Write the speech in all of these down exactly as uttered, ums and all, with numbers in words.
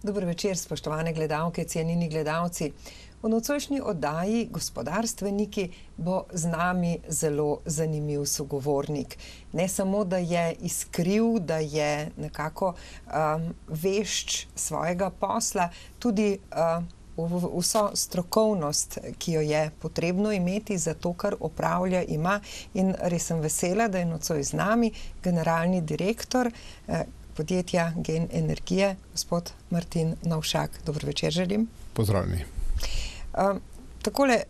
Dober večer, spoštovane gledalke, cenjeni gledalci. V nocojšnji oddaji Gospodarstveniki bo z nami zelo zanimiv sogovornik. Ne samo, da je iskriv, da je nekako um, vešč svojega posla, tudi uh, vso strokovnost, ki jo je potrebno imeti za to, kar opravlja, ima. In res sem vesela, da je nocoj z nami generalni direktor eh, podjetja Gen Energije, gospod Martin Novšak. Dobro večer želim. Pozdravljeni. Uh, takole,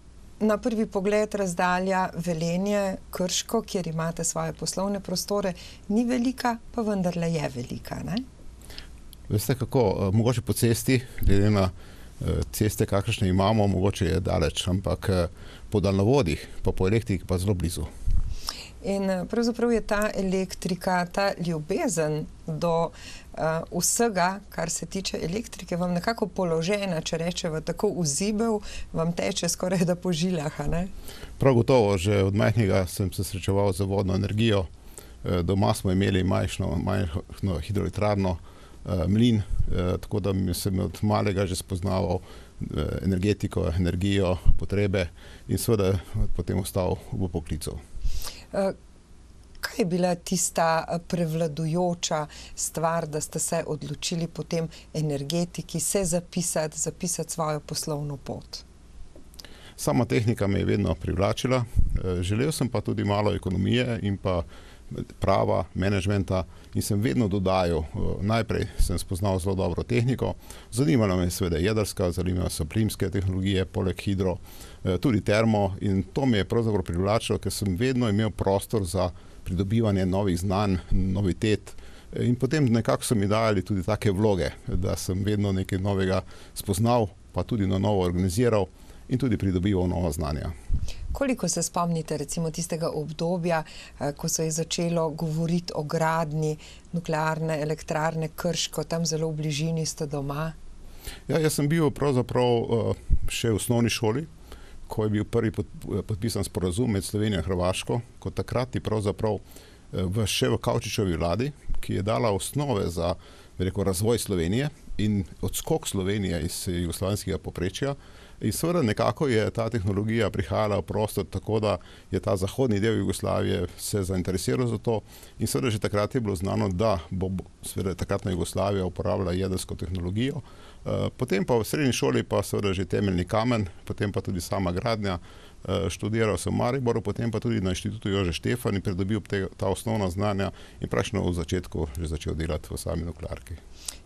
na prvi pogled razdalja Velenje, Krško, kjer imate svoje poslovne prostore, ni velika, pa vendarle je velika, ne? Veste kako, uh, mogoče po cesti, glede na uh, ceste, kakršne imamo, mogoče je daleč, ampak uh, po daljnovodih, pa po elektriki pa zelo blizu. In pravzaprav je ta elektrika, ta ljubezen do uh, vsega, kar se tiče elektrike, vam nekako položena, če rečeva tako vzibel, vam teče skoraj da po žilah, ne? Prav gotovo, že od majhnega sem se srečeval z vodno energijo. Doma smo imeli majhno, majhno hidroelektrarno, mlin, tako da sem od malega že spoznaval energetiko, energijo, potrebe in seveda potem ostal v poklicu. Kaj je bila tista prevladujoča stvar, da ste se odločili potem energetiki se zapisati, zapisati svojo poslovno pot? Sama tehnika me je vedno privlačila. Želel sem pa tudi malo ekonomije in pa prava, menedžmenta in sem vedno dodajal. Najprej sem spoznal zelo dobro tehniko. Zanimala me je seveda jedrska, zanimala so plimske tehnologije, poleg hidro, tudi termo in to me je pravzaprav privlačilo, ker sem vedno imel prostor za pridobivanje novih znanj, novitet in potem nekako so mi dajali tudi take vloge, da sem vedno nekaj novega spoznal, pa tudi na novo organiziral in tudi pridobival nova znanja. Koliko se spomnite recimo tistega obdobja, ko se je začelo govoriti o gradnji nuklearne elektrarne Krško, tam zelo v bližini ste doma? Ja, jaz sem bil pravzaprav še v osnovni šoli, ko je bil prvi podpisan sporazum med Slovenijo in Hrvaško, kot takrat je pravzaprav v še v Kavčičevi vladi, ki je dala osnove za, bi rekel, razvoj Slovenije in odskok Slovenije iz jugoslovanskega povprečja. In seveda nekako je ta tehnologija prihajala v prostor tako, da je ta zahodni del Jugoslavije se zainteresiral za to in seveda že takrat je bilo znano, da bo seveda takratna Jugoslavija uporabljala jedrsko tehnologijo. Potem pa v srednji šoli pa seveda že temeljni kamen, potem pa tudi sama gradnja. Študiral sem v Mariboru, potem pa tudi na inštitutu Jožef Stefan in pridobil te, ta osnovna znanja in praktično v začetku že začel delati v sami nuklearki.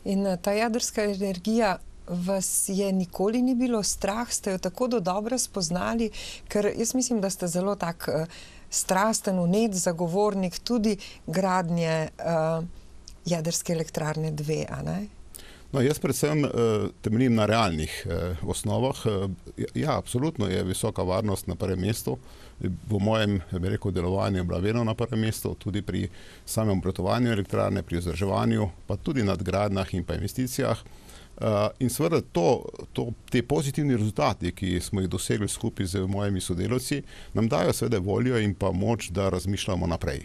In ta jedrska energija vas je nikoli ni bilo strah, ste jo tako do dobro spoznali, ker jaz mislim, da ste zelo tak uh, strasten, vnet zagovornik tudi gradnje uh, jedrske elektrarne dve, a ne? No, jaz predvsem uh, temeljim na realnih uh, osnovah. Uh, ja, absolutno je visoka varnost na prvem mestu. V mojem, bi rekel, delovanju je bila vedno na prvem mestu, tudi pri samem obratovanju elektrarne, pri vzdrževanju, pa tudi nadgradnjah in pa investicijah. Uh, in seveda to, to, te pozitivni rezultati, ki smo jih dosegli skupaj z mojimi sodelavci, nam dajo seveda voljo in pa moč, da razmišljamo naprej.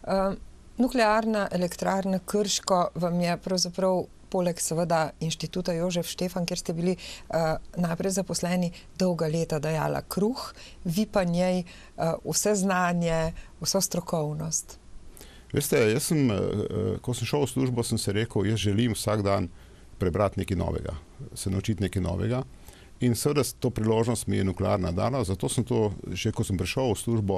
Uh, nuklearna elektrarna Krško vam je pravzaprav poleg seveda inštituta Jožef Stefan, kjer ste bili uh, najprej zaposleni, dolga leta dajala kruh, vi pa njej uh, vse znanje, vso strokovnost. Veste, jaz sem, uh, ko sem šel v službo, sem se rekel, jaz želim vsak dan prebrati nekaj novega, se naučiti nekaj novega. In seveda to priložnost mi je nuklearna dala, zato sem to, že ko sem prišel v službo,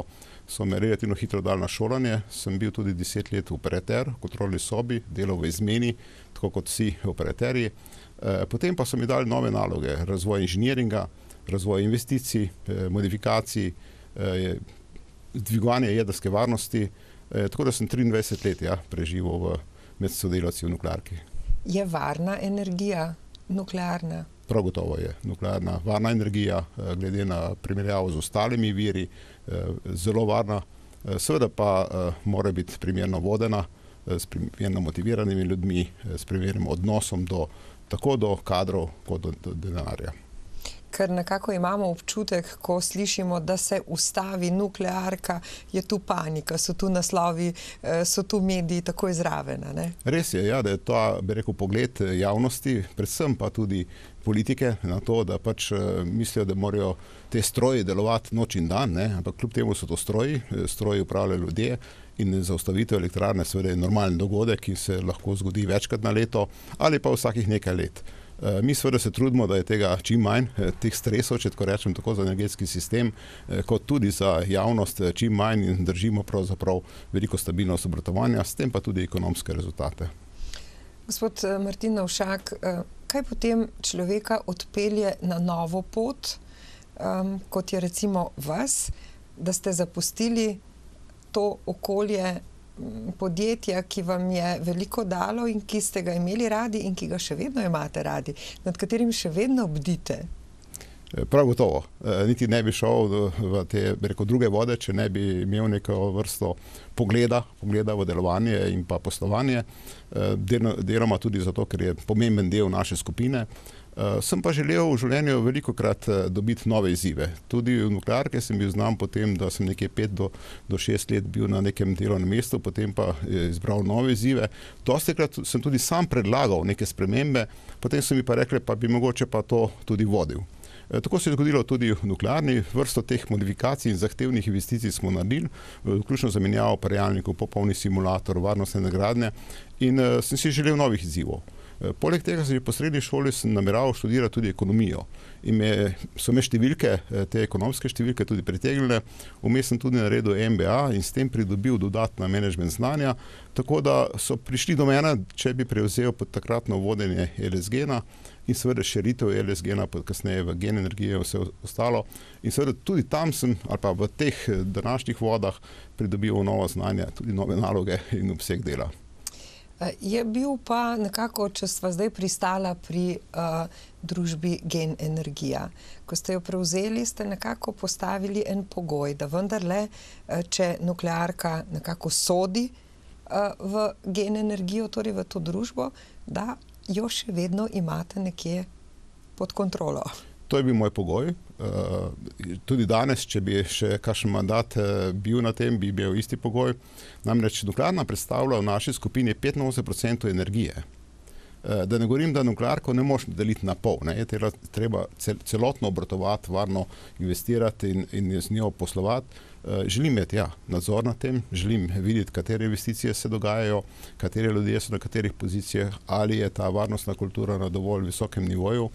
so me relativno hitro dali na šolanje. Sem bil tudi deset let operater v kontrolni sobi, delal v izmeni, tako kot vsi operaterji. E, potem pa so mi dali nove naloge, razvoj inženiringa, razvoj investicij, e, modifikacij, e, dvigovanje jedrske varnosti. E, tako da sem triindvajset let ja, preživel v, med sodelavci v nuklearki. Je varna energija nuklearna? Prav gotovo je nuklearna varna energija, glede na primerjavo z ostalimi viri, zelo varna. Seveda pa mora biti primerno vodena, s primerno motiviranimi ljudmi, s primernim odnosom do, tako do kadrov kot do, do denarja. ker nekako imamo občutek, ko slišimo, da se ustavi nuklearka, je tu panika, so tu naslovi, so tu mediji takoj zraven, ne? Res je, ja, da je to, bi rekel, pogled javnosti, predvsem pa tudi politike na to, da pač mislijo, da morajo te stroji delovati noč in dan, ne? Ampak kljub temu so to stroji, stroji upravljajo ljudje in zaustavitev elektrarne seveda je normalen dogodek, ki se lahko zgodi večkrat na leto ali pa vsakih nekaj let. Mi seveda se trudimo, da je tega čim manj, teh stresov, če tako rečem, tako za energetski sistem, kot tudi za javnost čim manj in držimo pravzaprav veliko stabilnost obratovanja, s tem pa tudi ekonomske rezultate. Gospod Martin Navšak, kaj potem človeka odpelje na novo pot, um, kot je recimo vas, da ste zapustili to okolje podjetja, ki vam je veliko dalo in ki ste ga imeli radi in ki ga še vedno imate radi, nad katerim še vedno bdite? Prav gotovo. Niti ne bi šel v te, bi rekel, druge vode, če ne bi imel neko vrsto pogleda, pogleda v delovanje in pa poslovanje. Deloma tudi zato, ker je pomemben del naše skupine. Sem pa želel v življenju velikokrat dobiti nove izzive. Tudi v nuklearke sem bil znan potem, da sem nekje pet do, do šest let bil na nekem delovnem mestu, potem pa izbral nove izzive. Dostikrat sem tudi sam predlagal neke spremembe, potem so mi pa rekli, pa bi mogoče pa to tudi vodil. Tako se je zgodilo tudi v nuklearni, vrsto teh modifikacij in zahtevnih investicij smo naredili, vključno zamenjavo parjalnikov, popolni simulator, varnostne nagradnje in sem si želel novih izzivov. Poleg tega sem v srednji šoli nameraval študirati tudi ekonomijo in me, so me številke, te ekonomske številke tudi pritegnile. Vmes sem tudi naredil M B A in s tem pridobil dodatna menedžment znanja, tako da so prišli do mene, če bi prevzel pod takratno vodenje L S G-na in seveda širitev L S G-na, kasneje v Gen energije vse ostalo. In seveda tudi tam sem, ali pa v teh današnjih vodah, pridobil novo znanje, tudi nove naloge in obseg dela. Je bil pa nekako, če sva zdaj pristala pri uh, družbi Gen energija. Ko ste jo prevzeli, ste nekako postavili en pogoj, da vendarle, če nuklearka nekako sodi uh, v Gen energijo, torej v to družbo, da jo še vedno imate nekje pod kontrolo. To je bil moj pogoj. Tudi danes, če bi še kakšen mandat bil na tem, bi bil isti pogoj. Namreč nuklearna predstavlja v naši skupini petinosemdeset procentov energije. Da ne govorim, da nuklearko ne moš deliti na pol. Ne? Je treba celotno obratovati, varno investirati in, in z njo poslovati. Želim imeti ja, nadzor nad tem, želim videti, katere investicije se dogajajo, katere ljudje so na katerih pozicijah, ali je ta varnostna kultura na dovolj visokem nivoju,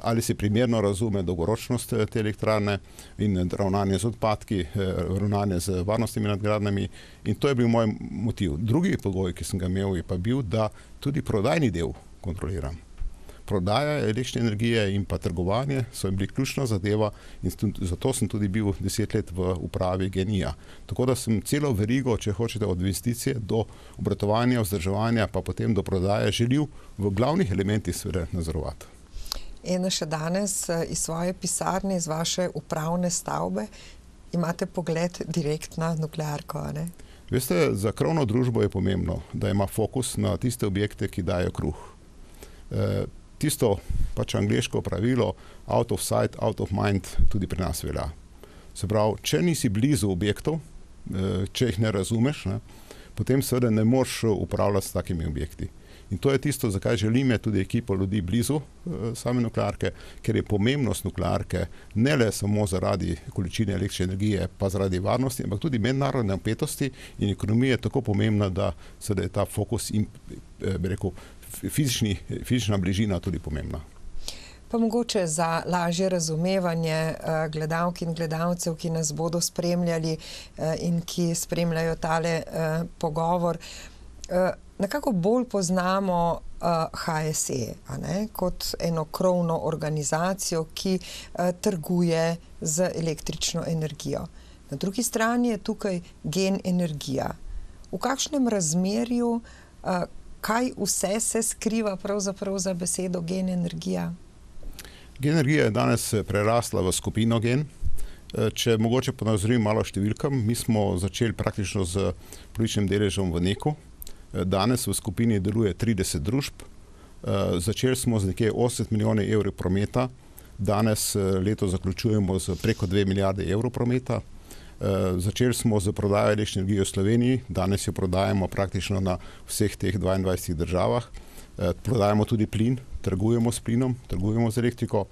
ali se primerno razume dolgoročnost te elektrarne in ravnanje z odpadki, ravnanje z varnostnimi nadgradnjami. In to je bil moj motiv. Drugi pogoj, ki sem ga imel, je pa bil, da tudi prodajni del kontroliram. Prodaja električne energije in pa trgovanje so bili ključna zadeva in zato sem tudi bil deset let v upravi Gen energija. Tako da sem celo verigo, če hočete, od investicije do obratovanja, vzdrževanja, pa potem do prodaje želel v glavnih elementih seveda nadzorovati. In še danes iz svoje pisarne, iz vaše upravne stavbe, imate pogled direkt na nuklearko, ne? Veste, za krovno družbo je pomembno, da ima fokus na tiste objekte, ki dajo kruh. E, tisto pač angleško pravilo out of sight, out of mind tudi pri nas velja. Se pravi, če nisi blizu objektov, e, če jih ne razumeš, ne, potem seveda ne moreš upravljati s takimi objekti. In to je tisto, zakaj želim je tudi ekipo ljudi blizu e, same nuklearke, ker je pomembnost nuklearke ne le samo zaradi količine električne energije, pa zaradi varnosti, ampak tudi mednarodne napetosti in ekonomije tako pomembna, da se da je ta fokus in, e, bi rekel, fizični, fizična bližina tudi pomembna. Pa mogoče za lažje razumevanje uh, gledalk in gledalcev, ki nas bodo spremljali uh, in ki spremljajo tale uh, pogovor, uh, nekako bolj poznamo uh, H S E, a ne, kot eno krovno organizacijo, ki uh, trguje z električno energijo. Na drugi strani je tukaj Gen energija. V kakšnem razmerju, uh, kaj vse se skriva pravzaprav za besedo Gen energija? Gen energija je danes prerasla v skupino Gen. Če mogoče ponazorim malo številkam, mi smo začeli praktično z polovičnim deležem v Neku. Danes v skupini deluje trideset družb. Začeli smo z nekje osemdeset milijonov evrov prometa. Danes leto zaključujemo z preko dve milijarde evrov prometa. Začeli smo z prodajo električne energije v Sloveniji, danes jo prodajamo praktično na vseh teh dvaindvajsetih državah. Prodajamo tudi plin, trgujemo s plinom, trgujemo z elektriko.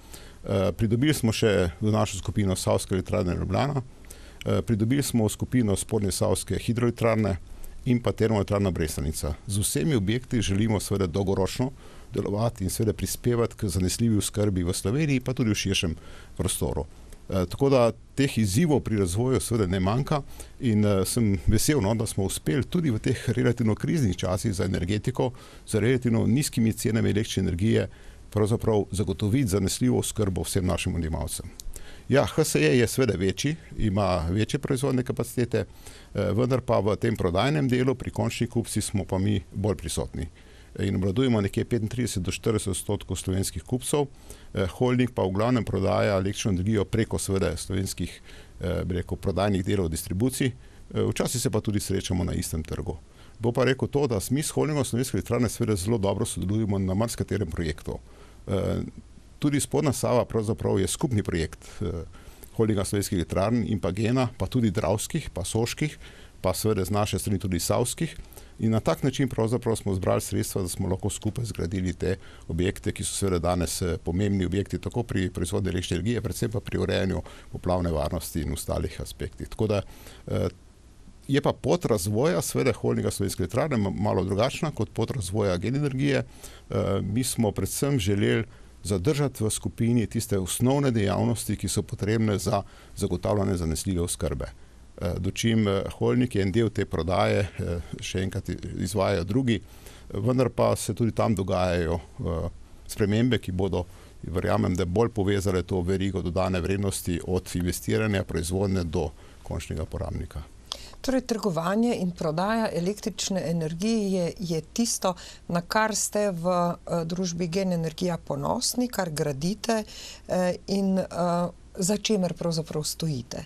Pridobili smo še v našo skupino Savske elektrarne Ljubljana, pridobili smo skupino Spodnje Savske hidroelektrarne in pa termoelektrarna Brestanica. Z vsemi objekti želimo seveda dolgoročno delovati in seveda prispevati k zanesljivi oskrbi v Sloveniji, pa tudi v širšem prostoru. Tako da teh izzivov pri razvoju seveda ne manjka in sem vesel, no, da smo uspeli tudi v teh relativno kriznih časih za energetiko, z relativno nizkimi cenami električne energije, pravzaprav zagotoviti zanesljivo oskrbo vsem našim odjemalcem. Ja, H S E je seveda večji, ima večje proizvodne kapacitete, vendar pa v tem prodajnem delu pri končnih kupcih smo pa mi bolj prisotni. In obvladujemo nekje petintrideset do štirideset odstotkov slovenskih kupcev, holding pa v glavnem prodaja električno energijo preko seveda slovenskih bi rekel, prodajnih delov distribucij, včasih se pa tudi srečamo na istem trgu. Bo pa rekel to, da mi s holdingom Slovenske elektrarne seveda zelo dobro sodelujemo na marsikaterem projektu. Tudi Spodnja Sava pravzaprav je skupni projekt holdinga Slovenskih elektrarn in pa Gena, pa tudi Dravskih, pa Soških, pa seveda z naše strani tudi Savskih. In na tak način pravzaprav smo zbrali sredstva, da smo lahko skupaj zgradili te objekte, ki so seveda danes pomembni objekti, tako pri proizvodnji električne energije, predvsem pa pri urejanju poplavne varnosti in ostalih aspektih. Tako da je pa pot razvoja seveda holdinga Slovenske elektrarne malo drugačna kot pot razvoja Gen energije. Mi smo predvsem želeli zadržati v skupini tiste osnovne dejavnosti, ki so potrebne za zagotavljanje zanesljive oskrbe. Dočim holding je en del te prodaje, še enkrat izvajajo drugi, vendar pa se tudi tam dogajajo spremembe, ki bodo, verjamem, da bolj povezale to verigo dodane vrednosti od investiranja, proizvodnje do končnega porabnika. Torej, trgovanje in prodaja električne energije je, je tisto, na kar ste v uh, družbi Gen energija ponosni, kar gradite uh, in uh, za čemer pravzaprav stojite.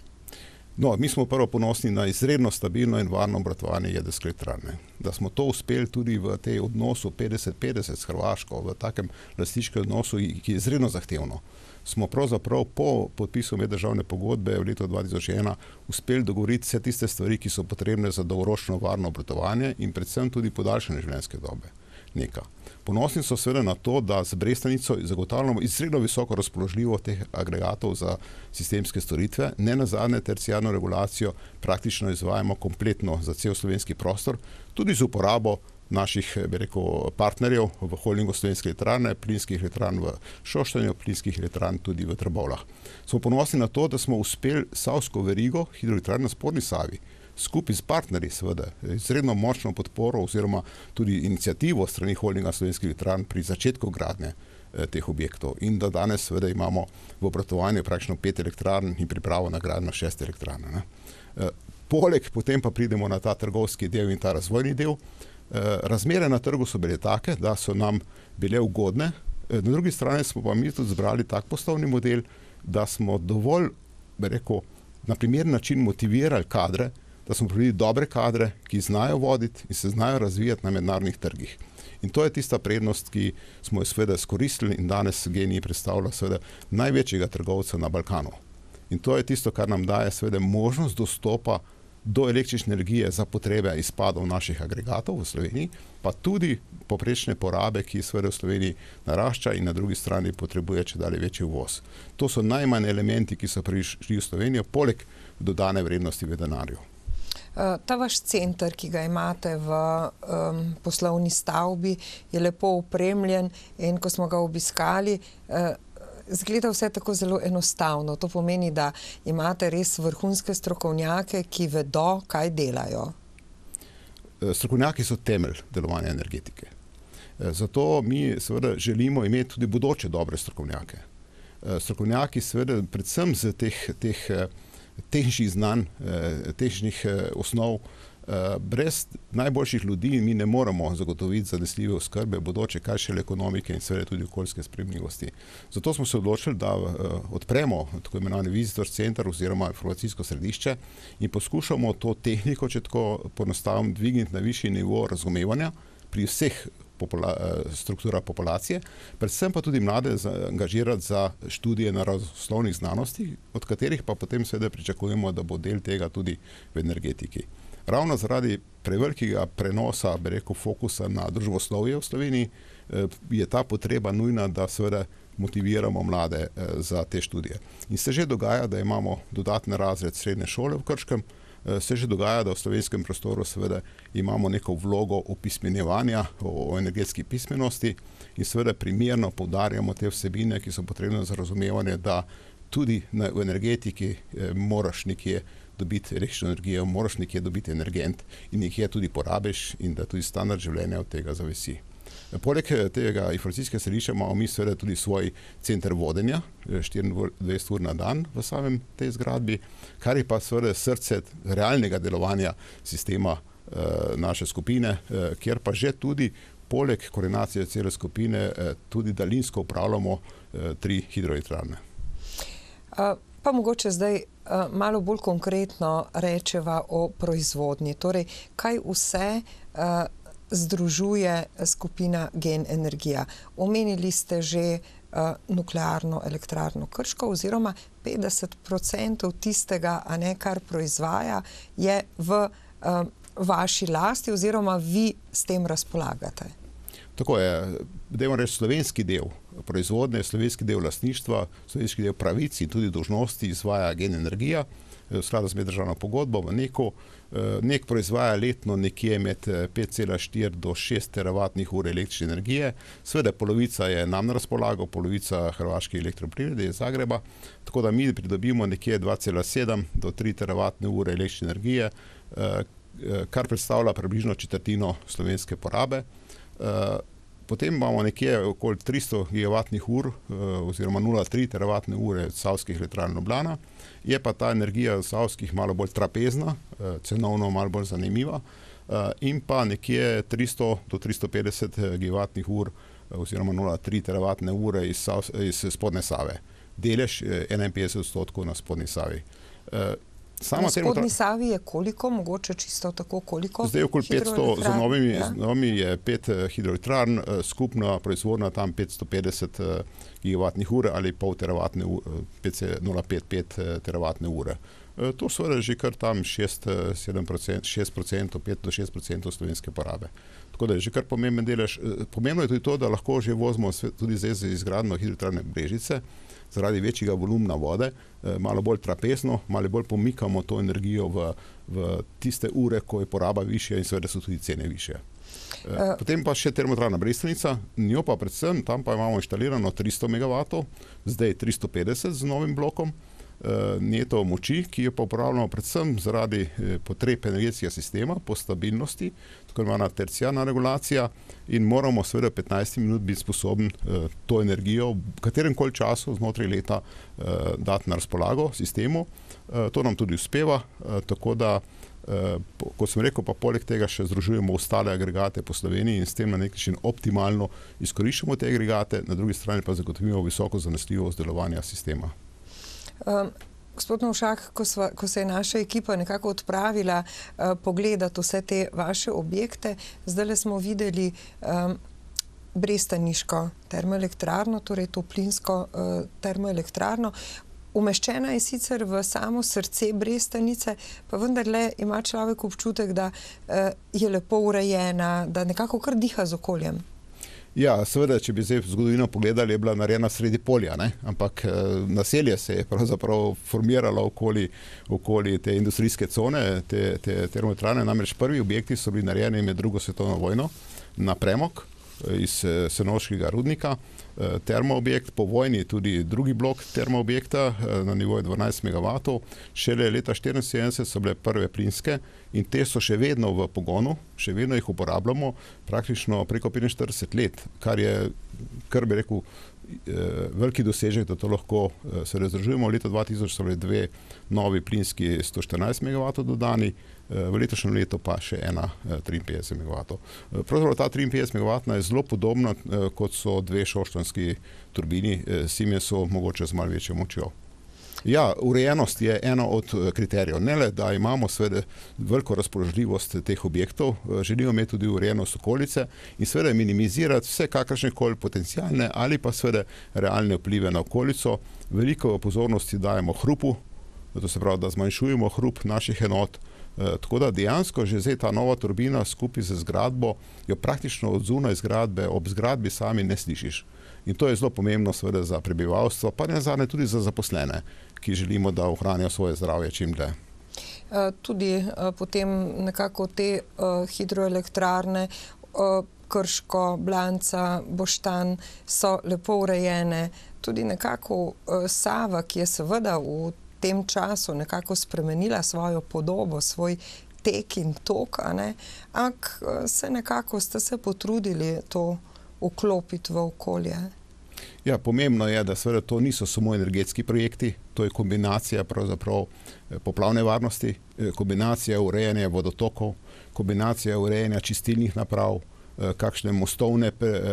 No, mi smo prvo ponosni na izredno stabilno in varno obratovanje jedrske elektrarne. Da smo to uspeli tudi v tej odnosu petdeset petdeset s Hrvaško, v takem lastniškem odnosu, ki je izredno zahtevno. Smo pravzaprav po podpisu meddržavne pogodbe v letu dva tisoč ena uspeli dogovoriti vse tiste stvari, ki so potrebne za dolgoročno varno obratovanje in predvsem tudi podaljšanje življenjske dobe neka. Ponosni so seveda na to, da z Brestanico zagotavljamo izredno visoko razpoložljivo teh agregatov za sistemske storitve, ne nazadnje terciarno regulacijo praktično izvajamo kompletno za cel slovenski prostor, tudi z uporabo naših, bi rekel, partnerjev v holdingu Slovenske elektrarne, plinskih elektrarn v Šoštanju, plinskih elektrarn tudi v Trbovljah. Smo ponosni na to, da smo uspeli savsko verigo hidroelektrarn na Spodnji Savi skupaj s partnerji seveda izredno močno podporo oziroma tudi inicijativo strani holdinga Slovenskih elektrarn pri začetku gradnje eh, teh objektov in da danes seveda imamo v obratovanju praktično pet elektrarn in pripravo na gradnjo šest elektrarn. Eh, poleg potem pa pridemo na ta trgovski del in ta razvojni del. Razmere na trgu so bile take, da so nam bile ugodne. Na drugi strani smo pa mi tudi zbrali tak poslovni model, da smo dovolj, bi rekel, na primeren način motivirali kadre, da smo pridobili dobre kadre, ki znajo voditi in se znajo razvijati na mednarodnih trgih. In to je tista prednost, ki smo jo seveda izkoristili in danes Gen predstavlja seveda največjega trgovca na Balkanu. In to je tisto, kar nam daje seveda možnost dostopa do električne energije za potrebe izpadov naših agregatov v Sloveniji, pa tudi poprečne porabe, ki seveda v Sloveniji narašča in na drugi strani potrebuje čedalje večji uvoz. To so najmanj elementi, ki so prišli v Slovenijo, poleg dodane vrednosti v denarju. Ta vaš center, ki ga imate v um, poslovni stavbi, je lepo opremljen in ko smo ga obiskali, uh, zgleda vse tako zelo enostavno. To pomeni, da imate res vrhunske strokovnjake, ki vedo, kaj delajo. Strokovnjaki so temelj delovanja energetike. Zato mi seveda želimo imeti tudi bodoče dobre strokovnjake. Strokovnjaki seveda predvsem z teh, teh tehničnih znanj, tehničnih osnov, brez najboljših ljudi mi ne moremo zagotoviti zanesljive oskrbe bodoče, kaj šele ekonomike in seveda tudi okoljske sprejemljivosti. Zato smo se odločili, da odpremo tako imenovani visitor center oziroma informacijsko središče in poskušamo to tehniko, če tako poenostavim, dvigniti na višji nivo razumevanja pri vseh popula, struktura populacije, predvsem pa tudi mlade angažirati za študije naravoslovnih znanosti, od katerih pa potem seveda pričakujemo, da bo del tega tudi v energetiki. Ravno zaradi prevelikega prenosa, bi rekel, fokusa na družboslovje v Sloveniji je ta potreba nujna, da seveda motiviramo mlade za te študije. In se že dogaja, da imamo dodatni razred srednje šole v Krškem, se že dogaja, da v slovenskem prostoru seveda imamo neko vlogo opismenjevanja o energetski pismenosti in seveda primerno poudarjamo te vsebine, ki so potrebne za razumevanje, da tudi v energetiki moraš nekje dobiti električno energijo, moraš nekje dobiti energent in nekje tudi porabiš in da tudi standard življenja od tega zavisi. Poleg tega informacijskega središča imamo mi seveda tudi svoj center vodenja, štiriindvajset ur na dan v samem tej zgradbi, kar je pa seveda srce realnega delovanja sistema naše skupine, kjer pa že tudi poleg koordinacije cele skupine tudi daljinsko upravljamo tri hidroelektrarne. Pa mogoče zdaj malo bolj konkretno rečeva o proizvodnji. Torej, kaj vse združuje skupina Gen energija? Omenili ste že nuklearno elektrarno Krško oziroma petdeset procentov tistega, a ne, kar proizvaja, je v vaši lasti oziroma vi s tem razpolagate. Tako je, dajmo reči, slovenski del proizvodnje, slovenski del lastništva, slovenski del pravic in tudi dolžnosti izvaja Gen energija v skladu z meddržavno pogodbo v NEK-u. NEK proizvaja letno nekje med pet cela štiri do šest teravatnih ur električne energije. Seveda polovica je nam na razpolago, polovica Hrvaške elektroprivrede iz Zagreba, tako da mi pridobimo nekje dva cela sedem do tri teravatne ure električne energije, kar predstavlja približno četrtino slovenske porabe. Potem imamo nekje okoli tristo gigavatnih ur oziroma nula celih tri teravatne ure savskih elektrarn Ljubljana. Je pa ta energija savskih malo bolj trapezna, cenovno malo bolj zanimiva in pa nekje tristo do tristo petdeset gigavatnih ur oziroma nula celih tri teravatne ure iz, iz spodnje Save. Delež enainpetdeset odstotkov na spodnji Savi. Na spodnji Savi je koliko, mogoče čisto tako koliko? Zdaj okoli petsto, z novimi, ja? z novimi je pet hidroelektrarn, skupna proizvodnja tam petsto petdeset gigavatnih ur ali pol teravatne ure, nula celih pet pet teravatne ure. To seveda že kar tam šest procentov, pet do šest procentov slovenske porabe. Tako da je že kar pomemben delež. Pomembno je tudi to, da lahko že vozimo tudi zdaj za izgradnjo hidroelektrarne Brežice, zaradi večjega volumna vode, malo bolj trapezno, malo bolj pomikamo to energijo v, v tiste ure, ko je poraba višja in seveda so tudi cene višje. Potem pa še termoelektrarna Brestonica, njo pa predvsem, tam pa imamo inštalirano tristo megavatov, zdaj tristo petdeset z novim blokom neto moči, ki jo pa uporabljamo predvsem zaradi potreb energetskega sistema po stabilnosti, tako imena terciarna regulacija in moramo seveda petnajst minut biti sposobni to energijo v katerem koli času znotraj leta dati na razpolago sistemu. To nam tudi uspeva, tako da, kot sem rekel, pa poleg tega še združujemo ostale agregate po Sloveniji in s tem na nek način optimalno izkoriščamo te agregate, na drugi strani pa zagotovimo visoko zanesljivost delovanja sistema. Um, gospod Novšak, ko, sva, ko se je naša ekipa nekako odpravila uh, pogledati vse te vaše objekte, zdaj smo videli um, brestaniško termoelektrarno, torej to plinsko uh, termoelektrarno. Umeščena je sicer v samo srce Brestanice, pa vendarle ima človek občutek, da uh, je lepo urejena, da nekako kar diha z okoljem. Ja, seveda, če bi zdaj zgodovino pogledali, je bila narejena sredi polja, ne? Ampak naselje se je pravzaprav formiralo okoli, okoli te industrijske cone, te, te termoelektrarne. Namreč prvi objekti so bili narejeni med drugo svetovno vojno na premog iz Senoškega rudnika. Termoobjekt, po vojni tudi drugi blok termoobjekta na nivoju dvanajst megavatov. Šele leta štiriinsedemdeset so bile prve plinske in te so še vedno v pogonu, še vedno jih uporabljamo praktično preko petinštirideset let, kar je, kar bi rekel, veliki dosežek, da to lahko se razdružujemo. Leta dva tisoč so bile dve novi plinski sto štirinajst megavatov dodani, v letošnjem letu pa še ena triinpetdeset megavatov. Pravzaprav ta triinpetdeset megavatna je zelo podobna, kot so dve šoštanjski turbini Siemensu, mogoče z malo večjo močjo. Ja, urejenost je eno od kriterijev. Ne le, da imamo seveda veliko razpoložljivost teh objektov, želimo imeti tudi urejenost okolice in seveda minimizirati vse kakršne koli potencialne ali pa seveda realne vplive na okolico. Veliko pozornosti dajemo hrupu, to se pravi, da zmanjšujemo hrup naših enot. Tako da dejansko že zdaj ta nova turbina skupaj z zgradbo jo praktično od zunaj zgradbe, ob zgradbi sami ne slišiš. In to je zelo pomembno seveda za prebivalstvo, pa ne zadnje tudi za zaposlene, ki želimo, da ohranijo svoje zdravje čim dlje. Tudi potem nekako te hidroelektrarne, Krško, Blanca, Boštanj so lepo urejene. Tudi nekako Sava, ki je seveda v tem času nekako spremenila svojo podobo, svoj tek in tok, ampak se nekako ste se potrudili to vklopiti v okolje. Ja, pomembno je, da seveda to niso samo energetski projekti, to je kombinacija pravzaprav poplavne varnosti, kombinacija urejanja vodotokov, kombinacija urejanja čistilnih naprav, kakšne mostovne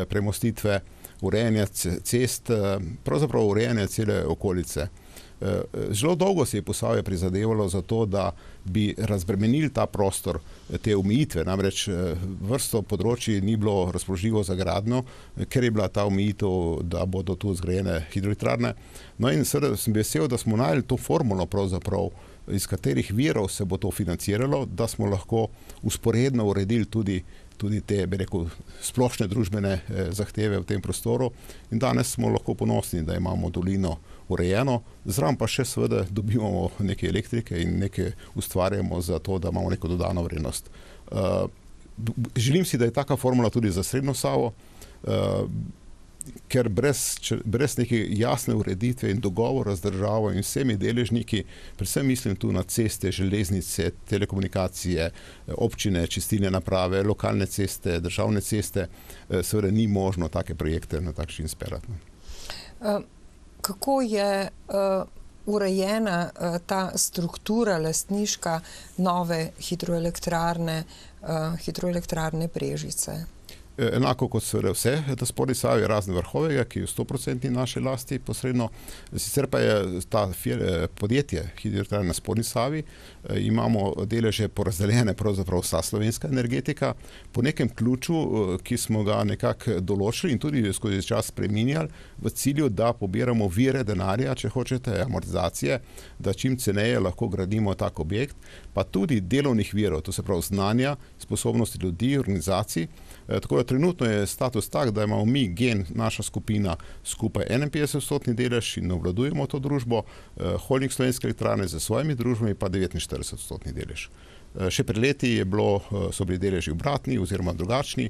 premostitve, urejanja cest, pravzaprav urejanja cele okolice. Zelo dolgo se je Posavje prizadevalo za to, da bi razbremenili ta prostor, te omejitve, namreč vrsto področji ni bilo razpoložljivo za gradnjo, ker je bila ta omejitev, da bodo tu zgrajene hidroelektrarne. No in seveda sem vesel, da smo našli to formulo pravzaprav, iz katerih virov se bo to financiralo, da smo lahko usporedno uredili tudi tudi te, bi rekel, splošne družbene zahteve v tem prostoru in danes smo lahko ponosni, da imamo dolino urejeno, zraven pa še seveda dobivamo neke elektrike in nekaj ustvarjamo za to, da imamo neko dodano vrednost. Želim si, da je taka formula tudi za Srednjo Savo, ker brez, brez neke jasne ureditve in dogovora z državo in vsemi deležniki, predvsem mislim tu na ceste, železnice, telekomunikacije, občine, čistilne naprave, lokalne ceste, državne ceste, seveda ni možno take projekte na tak način speljati. Kako je urejena ta struktura lastniška nove hidroelektrarne, hidroelektrarne Brežice? Enako kot seveda vse, da Spodnji Savi razen Vrhovega, ki je v sto procentih naše lasti posredno, sicer pa je ta podjetje hidroelektrarne na Spodnji Savi, imamo deleže porazdeljene pravzaprav vsa slovenska energetika, po nekem ključu, ki smo ga nekako določili in tudi skozi čas spreminjali, v cilju, da pobiramo vire denarja, če hočete, amortizacije, da čim ceneje lahko gradimo tak objekt, pa tudi delovnih virov, to se pravi znanja, sposobnosti ljudi, organizacij. Tako da trenutno je status tak, da imamo mi, Gen, naša skupina, skupaj enainpetdeset odstotni delež in obvladujemo to družbo, Holding Slovenske elektrarne za svojimi družbami pa devetinštirideset odstotni delež. Še pred leti je bilo, so bili deleži obratni oziroma drugačni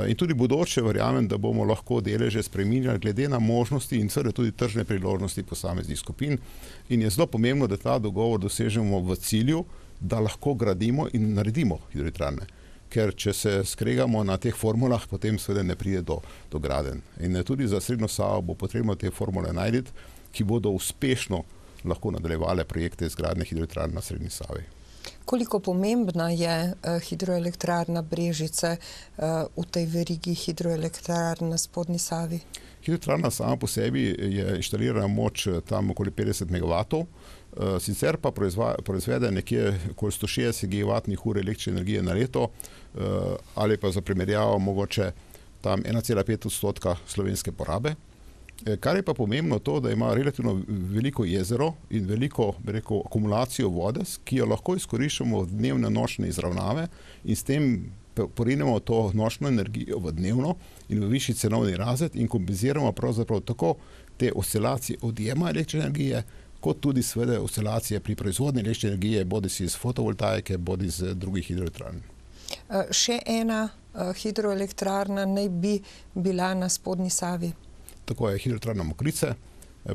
in tudi bodoče verjamem, da bomo lahko deleže spreminjali glede na možnosti in seveda tudi tržne priložnosti posameznih skupin in je zelo pomembno, da ta dogovor dosežemo v cilju, da lahko gradimo in naredimo hidroelektrarne. Ker če se skregamo na teh formulah, potem seveda ne pride do, do gradenj. In tudi za Srednjo Savo bo potrebno te formule najti, ki bodo uspešno lahko nadaljevale projekte izgradnje hidroelektrarn na Srednji Savi. Koliko pomembna je hidroelektrarna Brežice v tej verigi hidroelektrarn na Spodnji Savi? Hidroelektrarna sama po sebi je inštalirana moč tam okoli petdeset megavatov, sicer pa proizvede nekje okoli sto šestdeset gigavatnih ur električne energije na leto ali pa za primerjavo mogoče tam ena cela pet odstotka slovenske porabe. Kar je pa pomembno to, da ima relativno veliko jezero in veliko, bi rekel, akumulacijo vode, ki jo lahko izkoriščamo v dnevne nočne izravnave in s tem porinemo to nočno energijo v dnevno in v višji cenovni razred in kompenziramo pravzaprav tako te oscilacije odjema električne energije, kot tudi seveda oscilacije pri proizvodnji električne energije, bodi si iz fotovoltaike, bodi iz drugih hidroelektrarn. Še ena hidroelektrarna naj bi bila na Spodnji Savi. Tako je hidroelektrarna Mokrice.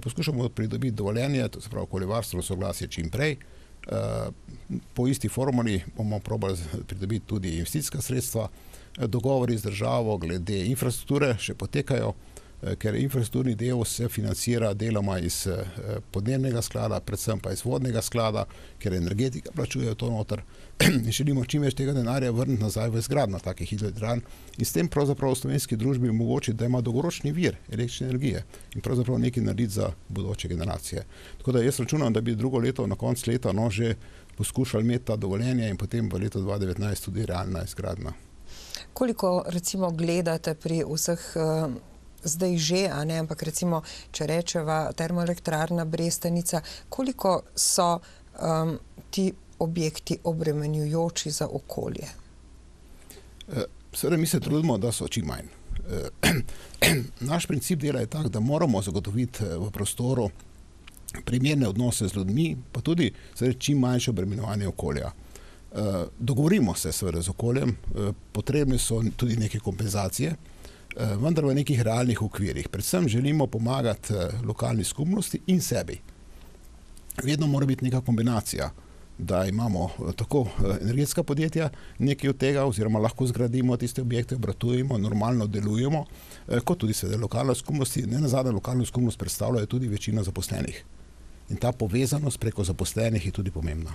Poskušamo pridobiti dovoljenje, to se pravi okoljevarstveno soglasje čim prej. Po isti formuli bomo probali pridobiti tudi investicijska sredstva. Dogovori z državo glede infrastrukture še potekajo. ker infrastrukturni del se financira deloma iz podnebnega sklada, predvsem pa iz vodnega sklada, ker energetika plačuje to noter in želimo čim več tega denarja vrniti nazaj v izgradnjo takih hidroelektrarn in s tem pravzaprav v slovenski družbi omogočiti, da ima dolgoročni vir električne energije in pravzaprav nekaj narediti za bodoče generacije. Tako da jaz računam, da bi drugo leto na koncu leta no, že poskušali imeti ta dovoljenje in potem v letu dva tisoč devetnajst tudi realna izgradnja. Koliko recimo gledate pri vseh uh, zdaj že, a ne, ampak recimo, če rečeva termoelektrarna Brestanica, koliko so um, ti objekti obremenjujoči za okolje? Seveda mi se trudimo, da so čim manj. Naš princip dela je tak, da moramo zagotoviti v prostoru primerne odnose z ljudmi, pa tudi seveda čim manjše obremenjevanje okolja. Dogovorimo se seveda z okoljem, potrebne so tudi neke kompenzacije, vendar v nekih realnih okvirih. Predvsem želimo pomagati lokalni skupnosti in sebi. Vedno mora biti neka kombinacija, da imamo tako energetska podjetja nekaj od tega, oziroma lahko zgradimo tiste objekte, obratujemo, normalno delujemo, kot tudi seveda lokalne skupnosti. Ne nazadnje lokalno skupnost predstavljajo tudi večina zaposlenih. In ta povezanost preko zaposlenih je tudi pomembna.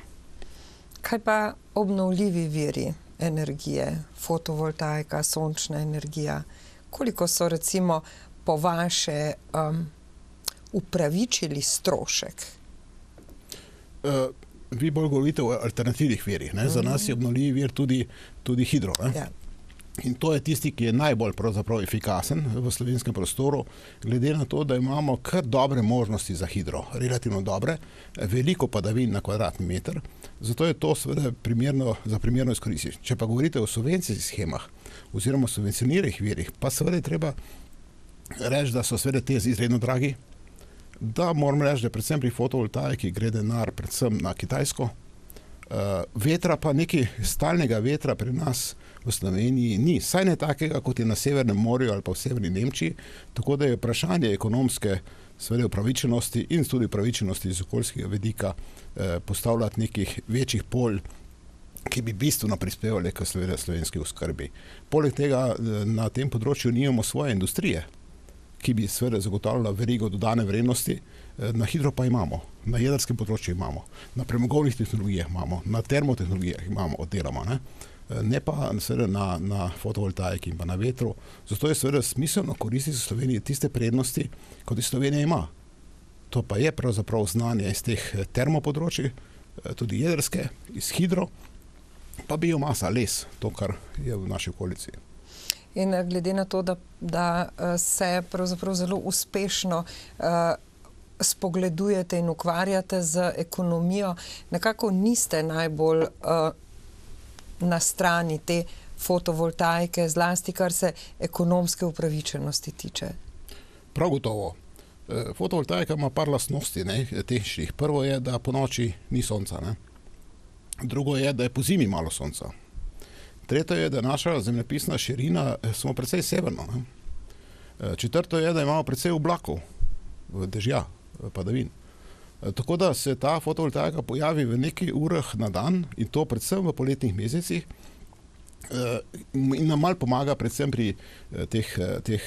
Kaj pa obnovljivi viri energije, fotovoltaika, sončna energija? Koliko so recimo po vaše um, upravičili strošek? Uh, vi bolj govorite o alternativnih virih. Ne? Za nas je obnovljivi vir tudi, tudi hidro. Ne? Ja. In to je tisti, ki je najbolj pravzaprav efikasen v slovenskem prostoru, glede na to, da imamo kar dobre možnosti za hidro, relativno dobre, veliko padavin na kvadratni meter, zato je to seveda primerno, za primerno izkoristiti. Če pa govorite o subvencijskih shemah oziroma subvencioniranih virih, pa seveda je treba reči, da so seveda te izredno dragi, da moram reči, da predvsem pri fotovoltaiki gre denar predvsem na Kitajsko, vetra pa nekaj stalnega vetra pri nas v Sloveniji ni, saj ne takega, kot je na Severnem morju ali pa v severni Nemčiji, tako da je vprašanje ekonomske seveda upravičenosti in tudi upravičenosti iz okoljskega vidika eh, postavljati nekih večjih polj, ki bi bistveno prispevali k seveda slovenski oskrbi. Poleg tega na tem področju nimamo svoje industrije, ki bi seveda zagotavljala verigo dodane vrednosti, na hidro pa imamo, na jedrskem področju imamo, na premogovnih tehnologijah imamo, na termotehnologijah imamo oddeloma, ne, ne pa seveda na, na fotovoltaiki in pa na vetru. Zato je seveda smiselno koristiti v Sloveniji tiste prednosti, kot je Slovenija ima. To pa je pravzaprav znanje iz teh termopodročij, tudi jedrske, iz hidro, pa biomasa, les, to, kar je v naši okolici. In glede na to, da, da se pravzaprav zelo uspešno uh, spogledujete in ukvarjate z ekonomijo, nekako niste najbolj uh, na strani te fotovoltaike, zlasti kar se ekonomske upravičenosti tiče. Prav gotovo. Fotovoltaika ima par lastnosti, ne, tehničnih. Prvo je, da po noči ni sonca, ne. Drugo je, da je po zimi malo sonca. Tretje je, da naša zemljepisna širina smo precej severno. Ne. Četrto je, da imamo precej oblakov, dežja, padavin. Tako da se ta fotovoltaika pojavi v nekaj urah na dan in to predvsem v poletnih mesecih in nam malo pomaga predvsem pri teh, teh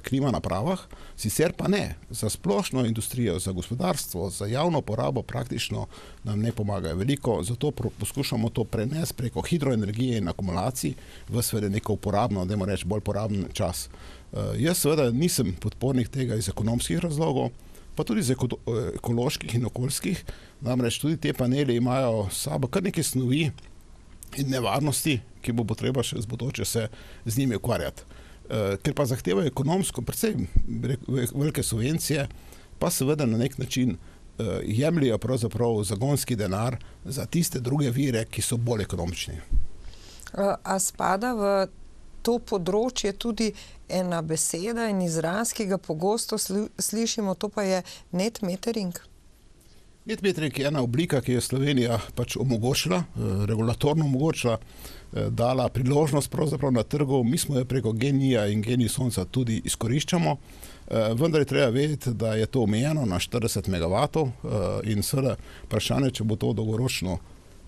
klima napravah, sicer pa ne. Za splošno industrijo, za gospodarstvo, za javno porabo praktično nam ne pomagajo veliko, zato poskušamo to prenesti preko hidroenergije in akumulacij v seveda neko uporabno, dajmo reči bolj poraben čas. Jaz seveda nisem podpornik tega iz ekonomskih razlogov, pa tudi iz ekoloških in okoljskih, namreč tudi te paneli imajo sabo kar neke snovi in nevarnosti, ki bo potreba še z bodoče se z njimi ukvarjati. Ker pa zahtevajo ekonomsko precej velike subvencije, pa seveda na nek način jemljajo pravzaprav zagonski denar za tiste druge vire, ki so bolj ekonomični. A spada v to področje tudi ena beseda in izraz, ki ga pogosto slišimo, to pa je net metering? Net metering je ena oblika, ki je Slovenija pač omogočila, regulatorno omogočila, dala priložnost pravzaprav na trgu. Mi smo jo preko genija in genij sonca tudi izkoriščamo, vendar je treba vedeti, da je to omejeno na štirideset megavatov in seveda vprašanje, če bo to dolgoročno,